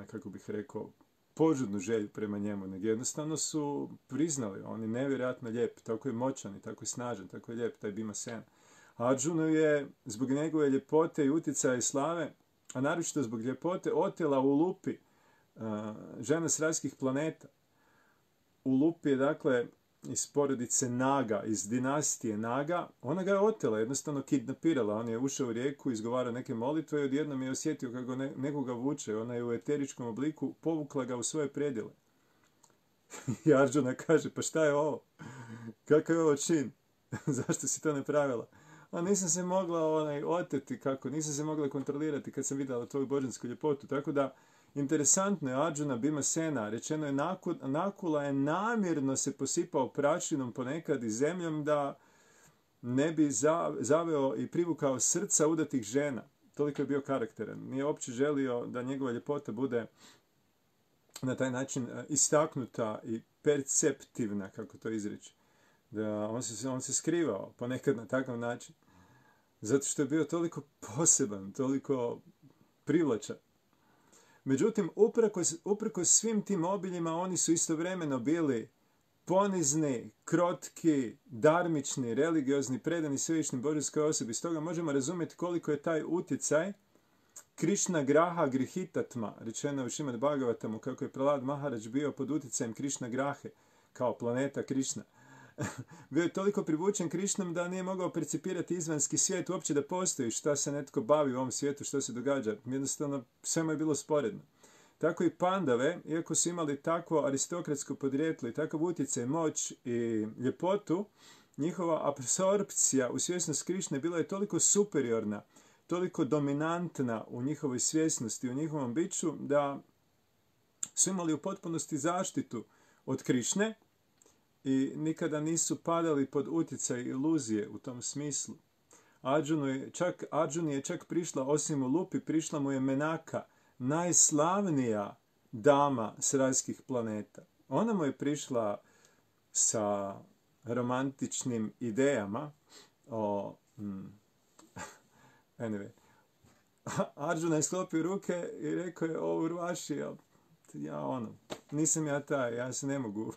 kako bih rekao, požudnu želju prema njemu, nego jednostavno su priznali, on je nevjerojatno lijep, tako je moćan i tako je snažan, tako je lijep taj Bhimasena. Arjunu je zbog njegove ljepote i utjecaja i slave, a naročito zbog ljepote, otela u Lupi, žena s rajskih planeta. U Lupi je, dakle, iz porodice Naga, iz dinastije Naga, ona ga je otela, jednostavno kidnapirala. On je ušao u rijeku, izgovarao neke molitve i odjednom je osjetio kako nekoga vuče. Ona je u eteričkom obliku povukla ga u svoje predjele. I Arjuna kaže, pa šta je ovo? Kakav je ovo čin? Zašto si to napravila? A nisam se mogla oteti, nisam se mogla kontrolirati kad sam vidjela tvoju božansku ljepotu. Tako da, interesantno je, Arjuna Bhimasena, rečeno je Nakula je namjerno se posipao prašinom ponekad i zemljom da ne bi zaveo i privukao srca udatih žena. Toliko je bio karakteran. Nije uopće želio da njegova ljepota bude na taj način istaknuta i perceptivna, kako to izreći. Da on se skrivao ponekad na takav način. Zato što je bio toliko poseban, toliko privlačan. Međutim, uprkos svim tim obiljima, oni su istovremeno bili ponizni, krotki, darmični, religiozni, predani svevišnjim božanskoj osobi. Stoga možemo razumjeti koliko je taj utjecaj Krišna Graha Grihitatma, rečeno u Šrimad Bhagavatamu, kako je Prahlad Maharaj bio pod utjecajem Krišna Grahe, kao planeta Krišna. Bio je toliko privučen Krišnom da nije mogao percipirati izvanski svijet, uopće da postoji šta se netko bavi u ovom svijetu, što se događa. Jednostavno, sve mu je bilo sporedno. Tako i Pandave, iako su imali takvo aristokratsko podrijetlo i takav utjecaj, moć i ljepotu, njihova apsorpcija u svjesnost Krišne bila je toliko superiorna, toliko dominantna u njihovoj svjesnosti, u njihovom biću, da su imali u potpunosti zaštitu od Krišne i nikada nisu padali pod utjecaj iluzije u tom smislu. Arjuni je čak prišla, osim u Lupi, prišla mu je Menaka, najslavnija dama s rajskih planeta. Ona mu je prišla sa romantičnim idejama o... Anyway. Arjuna je sklopio ruke i rekao je, o Urvaši, nisam ja taj, ja se ne mogu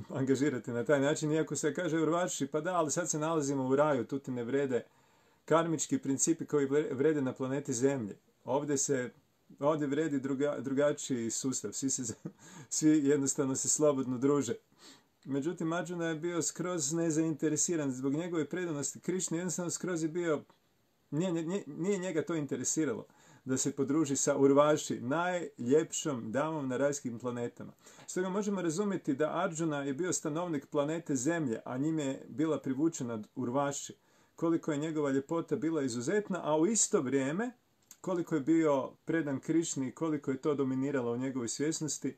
angažirati na taj način, iako se kaže Urvaši, pa da, ali sad se nalazimo u raju, tu ti ne vrede karmički principi koji vrede na planeti Zemlji. Ovdje vredi drugačiji sustav, svi jednostavno se slobodno druže. Međutim, Arjuna je bio skroz nezainteresiran zbog njegove predanosti Krišni, jednostavno skroz je bio, nije njega to interesiralo da se podruži sa Urvaši, najljepšom damom na rajskim planetama. Stoga možemo razumjeti da Arjuna je bio stanovnik planete Zemlje, a njime je bila privučena Urvaši. Koliko je njegova ljepota bila izuzetna, a u isto vrijeme koliko je bio predan Krišni, koliko je to dominiralo u njegovoj svjesnosti.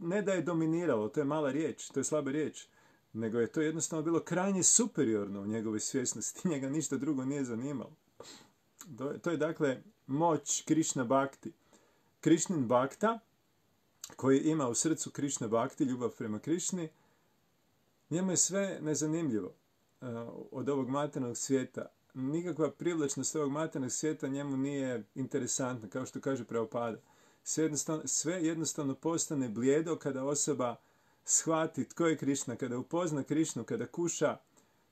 Ne da je dominiralo, to je mala riječ, to je slaba riječ, nego je to jednostavno bilo krajnje superiorno u njegovoj svjesnosti. Njega ništa drugo nije zanimalo. To je dakle moć Krišna Bhakti. Krišnin Bhakta, koji ima u srcu Krišna Bhakti, ljubav prema Krišni, njemu je sve nezanimljivo od ovog materijalnog svijeta. Nikakva privlačnost ovog materijalnog svijeta njemu nije interesantna, kao što kaže Prabhupada. Sve jednostavno postane blijedo kada osoba shvati tko je Krišna, kada upozna Krišnu, kada kuša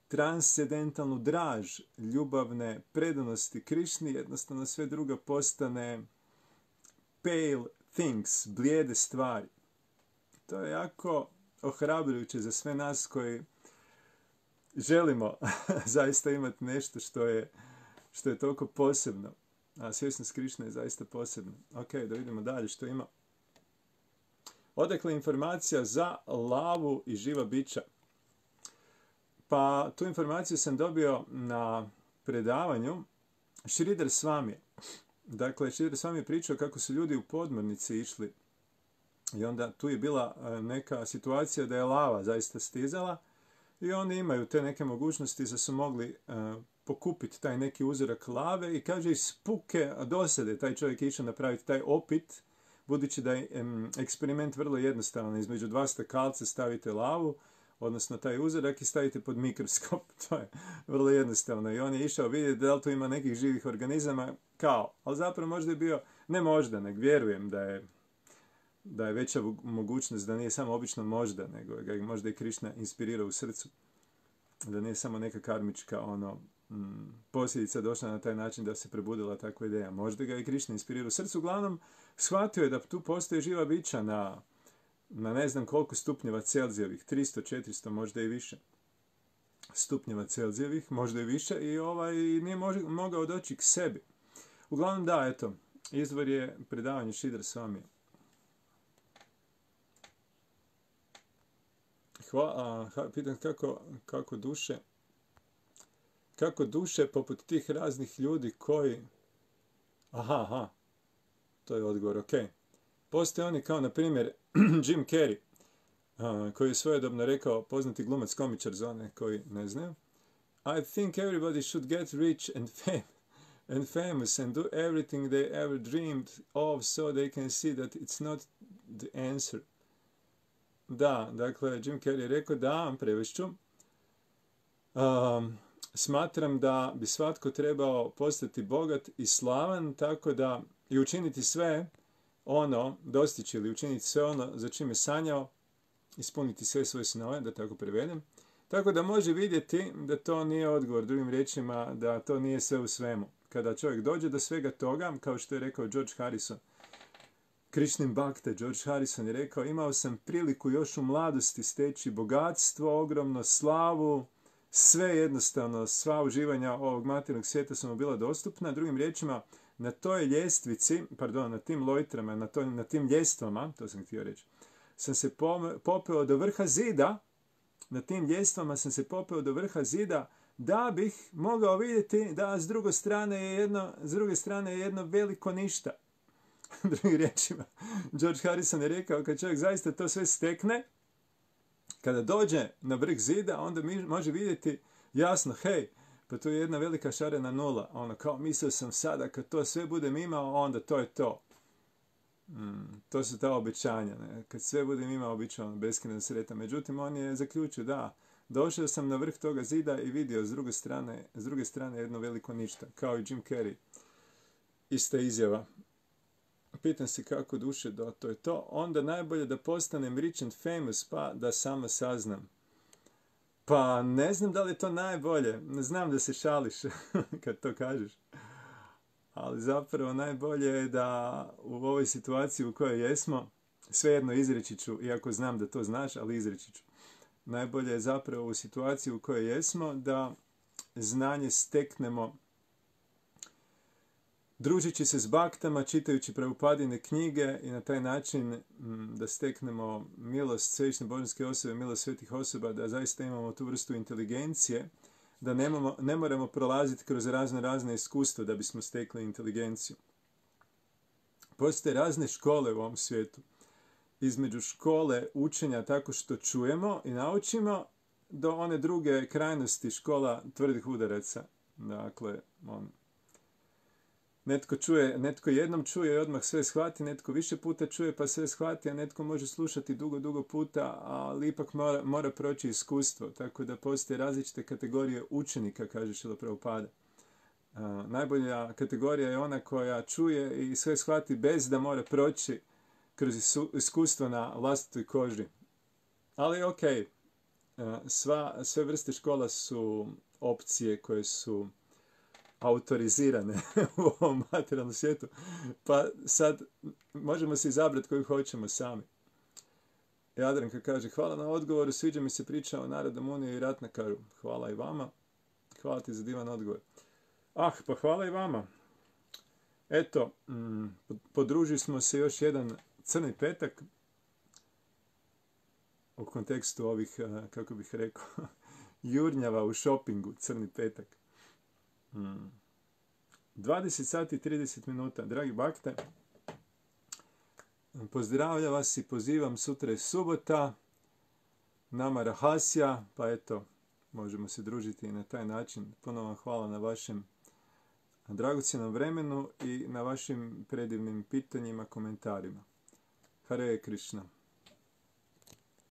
transcendentalnu draž ljubavne predanosti Krišni, jednostavno sve drugo postane pale things, blijede stvari. To je jako ohrabrujuće za sve nas koji želimo zaista imati nešto što je toliko posebno. A svjesnost Krišne je zaista posebna. Ok, da vidimo dalje što ima. Odakle informacija za lavu i živa bića? Pa tu informaciju sam dobio na predavanju Sridhar Swami. Dakle, Sridhar Swami je pričao kako su ljudi u podmornici išli i onda tu je bila neka situacija da je lava zaista stizala i oni imaju te neke mogućnosti da su mogli pokupiti taj neki uzorak lave i kaže iz puke dosade taj čovjek je išao napraviti taj opit, budući da je eksperiment vrlo jednostavan. Između dva stakalca stavite lavu, odnosno taj uzorak i stavite pod mikroskop. To je vrlo jednostavno. I on je išao vidjeti da li tu ima nekih živih organizama, ali zapravo možda je bio, ne možda, nego vjerujem da je veća mogućnost da nije samo obično možda, nego ga je možda i Krišna inspirirao u srcu. Da nije samo neka karmička posljedica došla na taj način da se prebudila takva ideja. Možda ga je Krišna inspirirao u srcu. Uglavnom, shvatio je da tu postoje živa bića na na ne znam koliko stupnjeva Celzijevih, 300, 400, možda i više stupnjeva Celzijevih, možda i više, i nije mogao doći k sebi. Uglavnom da, eto, izvor je predavanje Šidra Svamije. Pitam kako duše poput tih raznih ljudi koji... Aha, to je odgovor, ok. Postoje oni kao, na primjer, Jim Carrey, koji je svojedobno rekao, poznati glumac komičar za one koji ne znaju, I think everybody should get rich and famous and do everything they ever dreamed of so they can see that it's not the answer. Da, dakle, Jim Carrey je rekao, da, prevešću, smatram da bi svatko trebao postati bogat i slavan, tako da i učiniti sve ono, dostići ili učiniti sve ono za čime je sanjao, ispuniti sve svoje snove, da tako prevedem, tako da može vidjeti da to nije odgovor, drugim riječima, da to nije sve u svemu. Kada čovjek dođe do svega toga, kao što je rekao George Harrison, Krishnan Bhakta, George Harrison je rekao, imao sam priliku još u mladosti steći bogatstvo, ogromno slavu, sve jednostavno, sva uživanja ovog materijalnog svijeta su mu bila dostupna. Drugim riječima, na toj ljestvici, na tim lojtrama, na tim ljestvama, to sam htio reći, sam se popeo do vrha zida, na tim ljestvama sam se popeo do vrha zida, da bih mogao vidjeti da s druge strane je jedno veliko ništa. Drugim riječima, George Harrison je rekao, kad čovjek zaista to sve stekne, kada dođe na vrh zida, onda može vidjeti jasno, hej, pa tu je jedna velika šarena nula. Ono, kao mislio sam sada, kad to sve budem imao, onda to je to. To su ta obećanja. Ne? Kad sve budem imao, bit ću beskrajno sretan. Međutim, on je zaključio, da, došao sam na vrh toga zida i vidio s druge strane jedno veliko ništa. Kao i Jim Carrey. Ista izjava. Pitam se kako duše da to je to. Onda najbolje da postanem rich and famous, pa da samo saznam. Pa ne znam da li je to najbolje. Ne znam da se šališ kad to kažeš. Ali zapravo najbolje je da u ovoj situaciji u kojoj jesmo, svejedno izreći ću, iako znam da to znaš, ali izreći ću. Najbolje je zapravo u situaciji u kojoj jesmo da znanje steknemo družeći se s baktama, čitajući Prabhupadine knjige i na taj način da steknemo milost Svevišnje božanske osobe, milost svetih osoba, da zaista imamo tu vrstu inteligencije, da ne moramo prolaziti kroz razne iskustva da bismo stekli inteligenciju. Postoje razne škole u ovom svijetu. Između škole učenja tako što čujemo i naučimo, do one druge krajnosti, škola tvrdih udaraca. Dakle, netko jednom čuje i odmah sve shvati, netko više puta čuje pa sve shvati, a netko može slušati dugo puta, ali ipak mora proći iskustvo. Tako da postoje različite kategorije učenika, kaže Šrila Prabhupada. Najbolja kategorija je ona koja čuje i sve shvati bez da mora proći kroz iskustvo na vlastitoj koži. Ali ok, sve vrste škola su opcije koje su autorizirane u ovom materijalnom svijetu, pa sad možemo se izabrati koju hoćemo sami. Jadranka kaže, hvala na odgovoru, sviđa mi se priča o Narada Muniju i Ratnakaru. Hvala i vama. Hvala ti za divan odgovor. Pa hvala i vama. Eto, podružili smo se još jedan crni petak u kontekstu ovih, kako bih rekao, jurnjava u šopingu, crni petak. 20 sati i 30 minuta. Dragi bakte, pozdravljam vas i pozivam, sutra je subota, nama rahasja, pa eto, možemo se družiti i na taj način. Puno vam hvala na vašem dragocjenom vremenu i na vašim predivnim pitanjima, komentarima. Hare Krishna.